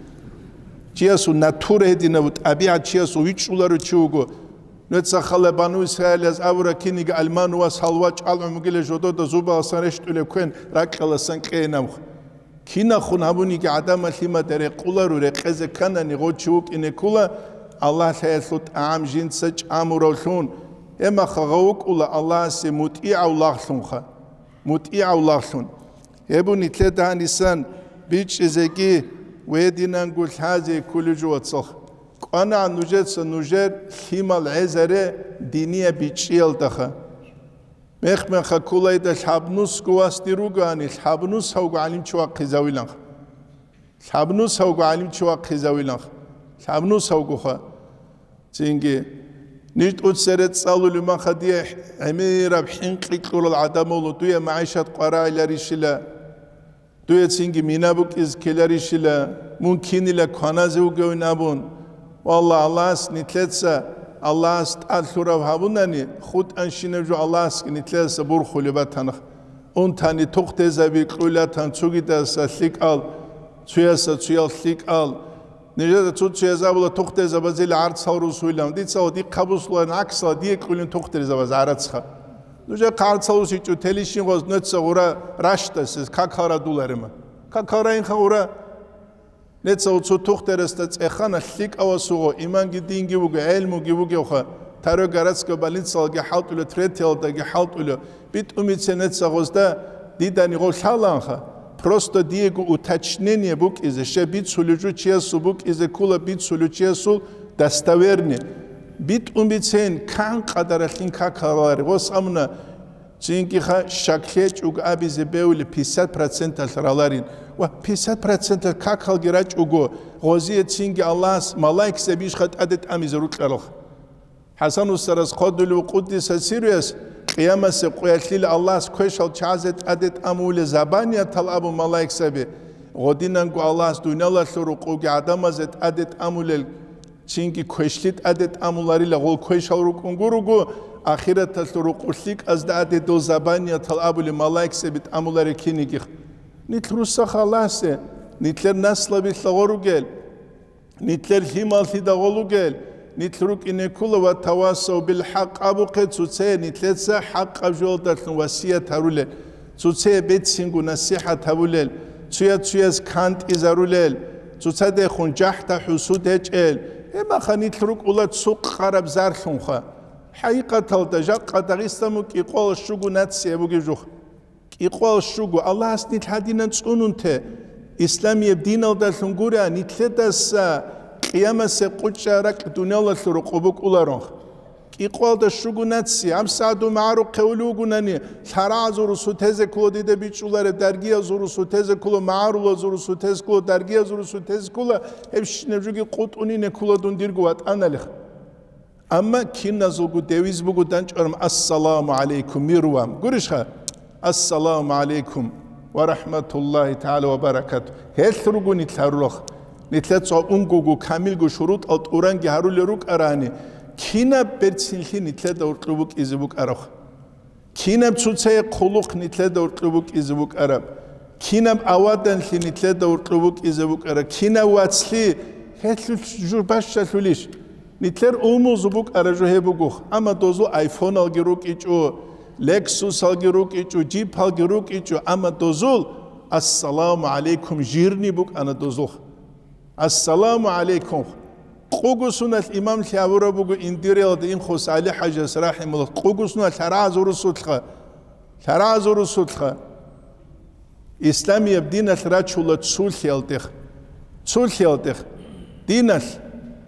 Чиясул натура гьединабу, тӀабигӀат чиясул вичӀчӀуларо чи вуго. Нуца хала бану Исраилаз абура киниги алману ва салва чӀалгӀун бугила жодода зубаласан рещтӀулеб квен ракьаласан кьейинабха. Кинахун гьабуниги гӀадамал лъимада рекъуларо, рекъезе кканани гъов чи вукӀине ккула, Аллагь лъаялъул тӀагӀам жинца чӀамуравлъун, гьемаха гъов вукӀула Аллагьасе мутӀигӀав лагълъунха, мутӀигӀав лагълъун. Гьеб нилъеда гьанисан бичӀчӀизеги ва гьединанго лъазе кколев жо, вацалха. КӀванагӀан нужеца нужер лъимал гӀезаре динияб бичӀчӀиялдаха. Мех-меха кколайда лъабнусго вас дир ругоани, лъабнус гьавго гӀалимчи вахъизавиланха. Лъабнус гьавго гӀалимчи вахъизавиланха. Лъабнус гьавгоха. Цинги, ниж тӀуцере цӀалулев маха дие гӀемераб хӀинкъи кьурал гӀадамал, дуе магӀишат къварагӀиларищила, дуе цинги мина букӀиз ккеларищила, мун кинила кваназе вугевин абун. Валла, Аллагьас нилъеца, Аллагьас тӀалъурав гьабунани, хутӀанщинаб жо Аллагьасги нилъеца бурхулеб батанах. Унтани тухтезаби кьулатан цугидаса лъикӀал, цуяса цуял лъикӀал. Нижеда цо-цояз абула тухтезабазил гӀарцал русуйлан. Дица ва дихъ гьабусуларин гӀаксала дие кьулин тухтезабаз гӀарацха. Нужехъа гӀарцал русичӀо телищин гъоз нуца гъура ращтасез какал радуларима. Какал раинха гъура. Нецав цо тухтарасда цӀехана лъикӀавасуго, иманги динги вуго, гӀелмуги вугевха, таро городская больницалги хӀалтӀулев, третьялдаги хӀалтӀулев, битӀумице нецагъозда дидани гъов лъалаанха. Просто диего уточнение букӀизе, щай бицулев жо чиясул букӀизе ккула, бицулев чиясул достоверный. БитӀумицейин кан къадаралъин какалари, гъос амуна, Цинги-ха щаклъечӀого абизе бевли пятьдесят проценталъ раларин. Ва пятьдесят проценталъ какалги рачӀого, гъозие цинги Аллагьас малаикзабищха тӀаде тӀамизе рукьаралха. ХӀасан устарас хъодулев къуддиса сируяс, къиямасе къуялъила Аллагьас квешал чагӀазе тӀаде тӀамуле забаниятал абу малаикзаби, гъодинанго Аллагьас дуниялалъул рукъуги гӀадамазе тӀаде тӀамулел Цинги квешлъи тӀаде тӀамуларила, гъол квешал рукӀун гуруго, ахираталъул рукъу лъикӀазда гьаде дол забаниятал абулеб малаикзаби тӀамуларе кинигих. Нилъ руссаха Аллагьасе, нилъер наслабилъа гъоругел, нилъер лъималлъида гъолугел, нилъ рукӀине ккула ва тавасав бил хӀакъ абухъе цуцае нилъеца хӀакъаб жоялдалъун васият гьарулел. Цуцее бецинго насихӀат гьабулел, цуя-цуяз кантӀизарулел, цоцадехун жахӀда-хӀусуд гьечӀел, гьебмаха нилъ рукӀула цукъ къараб зарлъунха. ХӀакъикъаталда, жакъа Дагъистан бу кӀикъоялда щуго нация бугеб жух. КӀикъоялда щуго, Аллагьас нилъ гьадинан цӀунунте, исламияб диналдалъун гура, нилъедаса къиямасе къучӀа ракь дуниялалъул рукъу букӀуларонха. КӀикъоялда щуго наци, гьабсагӀат дун магӀарухъе улев вугунани, лъарагӀазул русутезе ккола дида бичӀчӀулареб, даргиязул русутезе ккола, магӀарулазул русутезе ккола, даргиязул русутезе ккола, гьебщинаб жоги къутӀунине ккола дун дирго ватӀаналихъ. Амма киназулго девиз буго данчӀварам: «Ассаламу гӀалайкум, мир вам». Гурищха? «Ассаламу гӀалайкум». ва рахматуллагьи тагӀала ва баракату. Гьелъ руго нилъ гьарурал. Нилъеца унгого камилго шурутӀал тӀуранги гьарулел рукӀарани, кинаб берцинлъи нилъеда гьоркьоб букӀизе букӀараб? Кинаб цоцае хъулухъ нилъеда гьоркьоб букӀизе букӀараб? Кинаб аваданлъи нилъеда гьоркьоб букӀизе букӀараб? Кинаб вацлъи? Гьелъул жур бащалъулищ? Нилъер умузу букӀара жо гьеб бугоха, амма дозул айфоналги рукӀичӀо, лексусалги рукӀичӀо, джипалги рукӀичӀо, амма дозул «Ассаламу гӀалайкум» жирни букӀана дозулха. «Ассаламу гӀалайкум». Къугу суналъ имамлъи гьабураб буго Индириялда инхъус ГӀали ХӀажас рахӀимуллагь, къугу суналъ гьарагӀазул русулъха, гьарагӀазул русулъха. Исламияб диналъ рачула цулъиялдех. Цулъиялдех. Диналъ.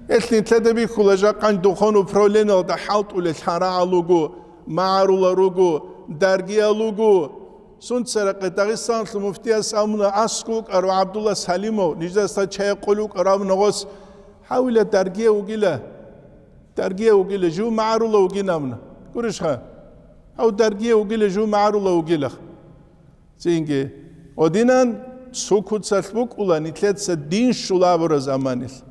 Гьелъ нилъеда бихьула жакъан духовный управлениялда хӀалтӀулел лъарагӀал руго, магӀарулал руго, даргиял руго. Сунцарахъе Дагъистаналъул муфтияс абуна аскӀов вукӀарав ГӀабдулла Салимов, ниждаса чай къулев вукӀарав абуна гъос, гьавила даргияв вугила, даргияв вугила, жив магӀарулав вугин абуна. Гурищха? Гьав даргияв вугила, жив магӀарулав вугилах. Цинги, гьодинан цо куцалъ букӀула нилъеца дин щула абураб заманалъ.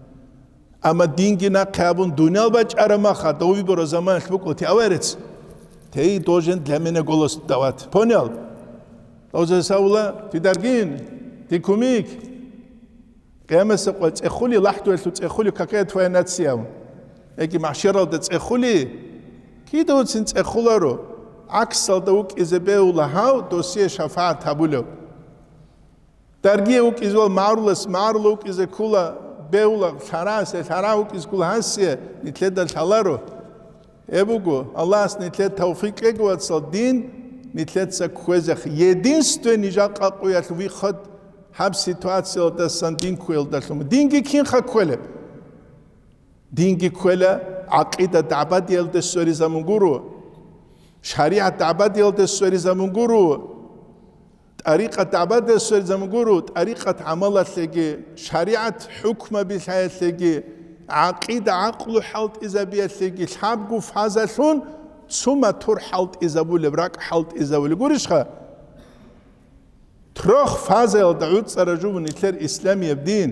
Амма динги нахъе абун дуниял бачӀараб мах, гьадав вибораб заманалъ букӀула, ти аварец. Тей должен для меня голос давать. Понял? Дозесавула, ти даргин, ти кумик. Къиямасеб къо цӀехули, лахӀдуялъул цӀехули, какая твоя нация? Яги махӀшаралда цӀехули, кидавцин цӀехуларо, гӀаксалда вукӀизе бегьула гьав, досие шафагӀат гьабулев. Даргие вукӀизе вал магӀарулас, магӀарула вукӀизе ккула, бегьула лъарасе, лъара вукӀизе ккула гьасие, нилъеда лъаларо. Гьеб буго, Аллагьас нилъер тавфикъ кьеги, вацал, дин нилъеца кквезехъ. Единственный жакъа къуялъ выход гьаб ситуациялдасан дин кквеялдалъун. Динги кинха кквелеб? Динги кквела гӀакъида дагӀбадиялде сверизамун гуро, шаригӀат дагӀбадиялде сверизамун гуро, тӀарикъат дагӀбадиялде сверизамун гуро, тӀарикъат гӀамалалъеги, шаригӀат хӀукмаби лъаялъеги, гӀакъида гӀакълу хӀалтӀизабиялъеги лъабгу фазалъун цо мотор хӀалтӀизабулеб, ракӀ хӀалтӀизабулеб гурищха? Трёх фазаялда гӀуцӀара жубу нилъер исламияб дин.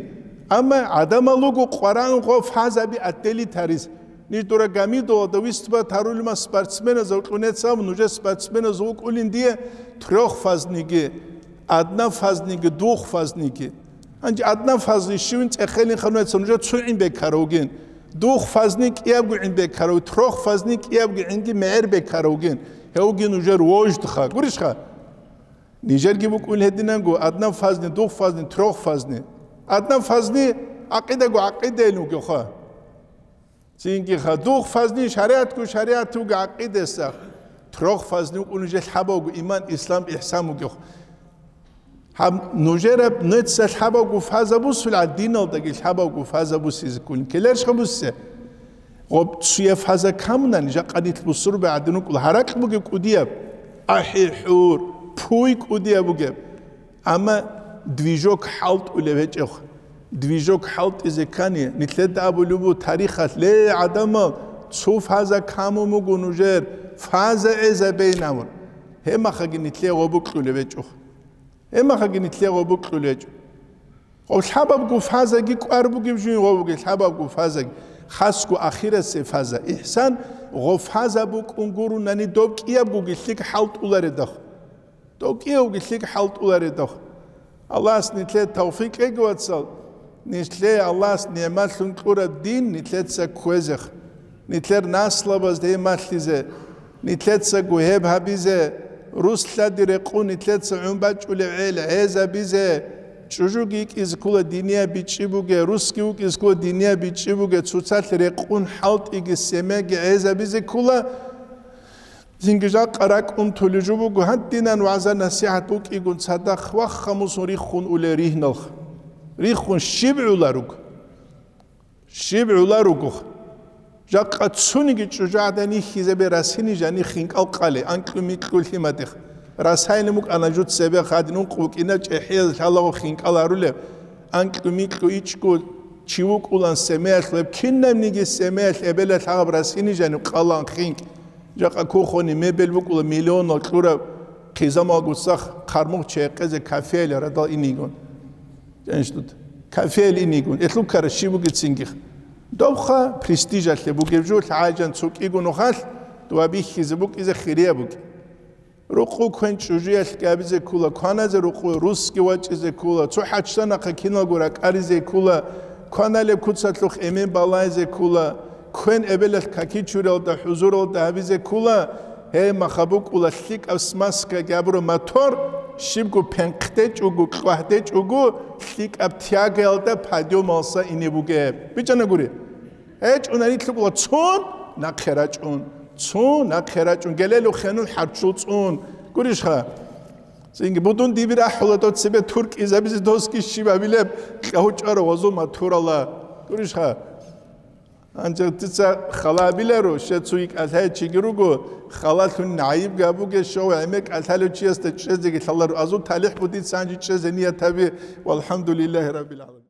Амма гӀадамал руго къваран гъо фазаби отделить гьарис. Ниж дора гамидолда выступать гьарулев ман спортсменазул кьунецав, нужер спортсменазул вукӀулин дие трёх фазниги, одна фазниги, двух фазниги. Гьанже одна фазни щивин цӀехелин хануеца нужер цу гӀин бекаравгин. Двух фазни кӀиябго гӀин бекарав, трёх фазни кӀиябго гӀинги мегӀер бекаравгин. Гьевги нужер вождха. Гурищха? Нижерги букӀун гьединанго, одна фазни, двух фазни, трёх фазни. Одна фазни гӀакъидаго гӀакъидайин вугевха. Цинги ха, двух фазни шаригӀатго шаригӀат вуго гӀакъидаса. Трёх фазни вукӀун нижер лъабавго иман, ислам, ихсан вугев. Гьаб нужераб нуца лъабавго фаза бусулгӀа, диналдаги лъабавго фаза бусизе кколин. Ккелерищха бусе? Гъоб цуя фаза камунани, жакъа нилъ бусурбе гӀадин вукӀула, гьаракь бугеб кӀудияб, ахӀи-хӀур, пуй кӀудияб бугеб. Амма движок хӀалтӀулев гьечӀев. Движок хӀалтӀизе ккани, нилъеда абулеб бу тарихалъ, ле, гӀадамал, цо фаза камун буго нужер, фаза гӀезабейин абун. Гьебмахаги нилъее гъобукьулев гьечӀо. Гьебмахаги нилъее гъобукьулев гьечӀо. Гъоб лъабабго фазаги кӀвар бугеб жугьин гъо бугеб лъабабго фазаги, хасго ахирасеб фаза, ихсан, гъо фаза букӀун гурунани доб кӀиябгоги лъикӀ хӀалтӀуларедахъ. Доб кӀиявги лъикӀ хӀалтӀуларедахъ. Аллагьас нилъее тавфикъ кьеги, вацал, нилъее Аллагьас нигӀматлъун кьураб дин нилъеца кквезехъ. Нилъер наслабазда гьеб малъизе, нилъецаго гьеб гьабизе, рус лъади рекъун нилъеца гӀун бачӀулев гӀел гӀезабизе, чӀужуги йикӀизе ккола динияб бичӀчӀи бугеб, русги вукӀизе ккола динияб бичӀчӀи бугеб, цоцалъ рекъун хӀалтӀиги семьяги гӀезабизе ккола. Цинги жакъа ракӀ унтулеб жо буго, гьадинан вагӀза-насихӀат букӀигун цадахъ вахха мусун риххун улел ригьналха. Риххун щиб гӀула руго? Щиб гӀула ругоха? Жакъа цониги чӀужугӀадан йихьизабе расини жани хинкӀал къали, анкьу-микьу лъимадихъ. Расайилан букӀана жуц цебе хадин ункъ букӀина чӀехӀияз лъалаго хинкӀал гьарулеб, анкьу-микьу ичӀго чи вукӀулан семеялъ, веб кинабниги семеялъ эбелалъ гьаб расини жаниб къалан хинкӀ. Жакъа кухони мебель букӀула миллионал кьураб, Хизамалгуцахъ хъармугъ чейхъезе кафеял радал инигун. Кафеял инигун. Элъул ккара щиб бугецингих. Добха престижалъе бугеб жо лъагӀайжан цо кӀиго нухалъ дуа бихьизе букӀизе хирияб букӀи. Рукъу квен чӀужуялъ габизе ккула, кваназе рукъу русги вачӀизе ккула, цо хӀачданахъа киналго ракӀаризе ккула, кваналеб куцалъухъ эмен балайзе ккула, квен эбелалъ какичуралда, хӀузуралда гьабизе ккула, гьей маха букӀула лъикӀаб смазка габураб мотор, щибго пенхъдечӀого, кьвагьдечӀого, лъикӀаб тягаялда подъёмалса ине бугеб. БичӀана гури. ГьечӀунани лъукӀула цун нахъе рачӀун, цун нахъе рачӀун, гелелухъенун хӀарчул цӀун. Гурищха? Цинги будун дибир ахӀула дов цебе туркӀизабизе досги щиб абилеб кьагьучӀара вазул матурала. Гурищха? Анчах дица хала абиларо, щай цуги кӀалъай чиги руго, халалъун гӀайиб габуге, щав гӀемер кӀалъалев чиясда чӀезеги лъаларо. Азул талихӀ бугин дица гьанже чӀезе ният гьаби, валхӀамдулиллагьи раббил гӀаламин.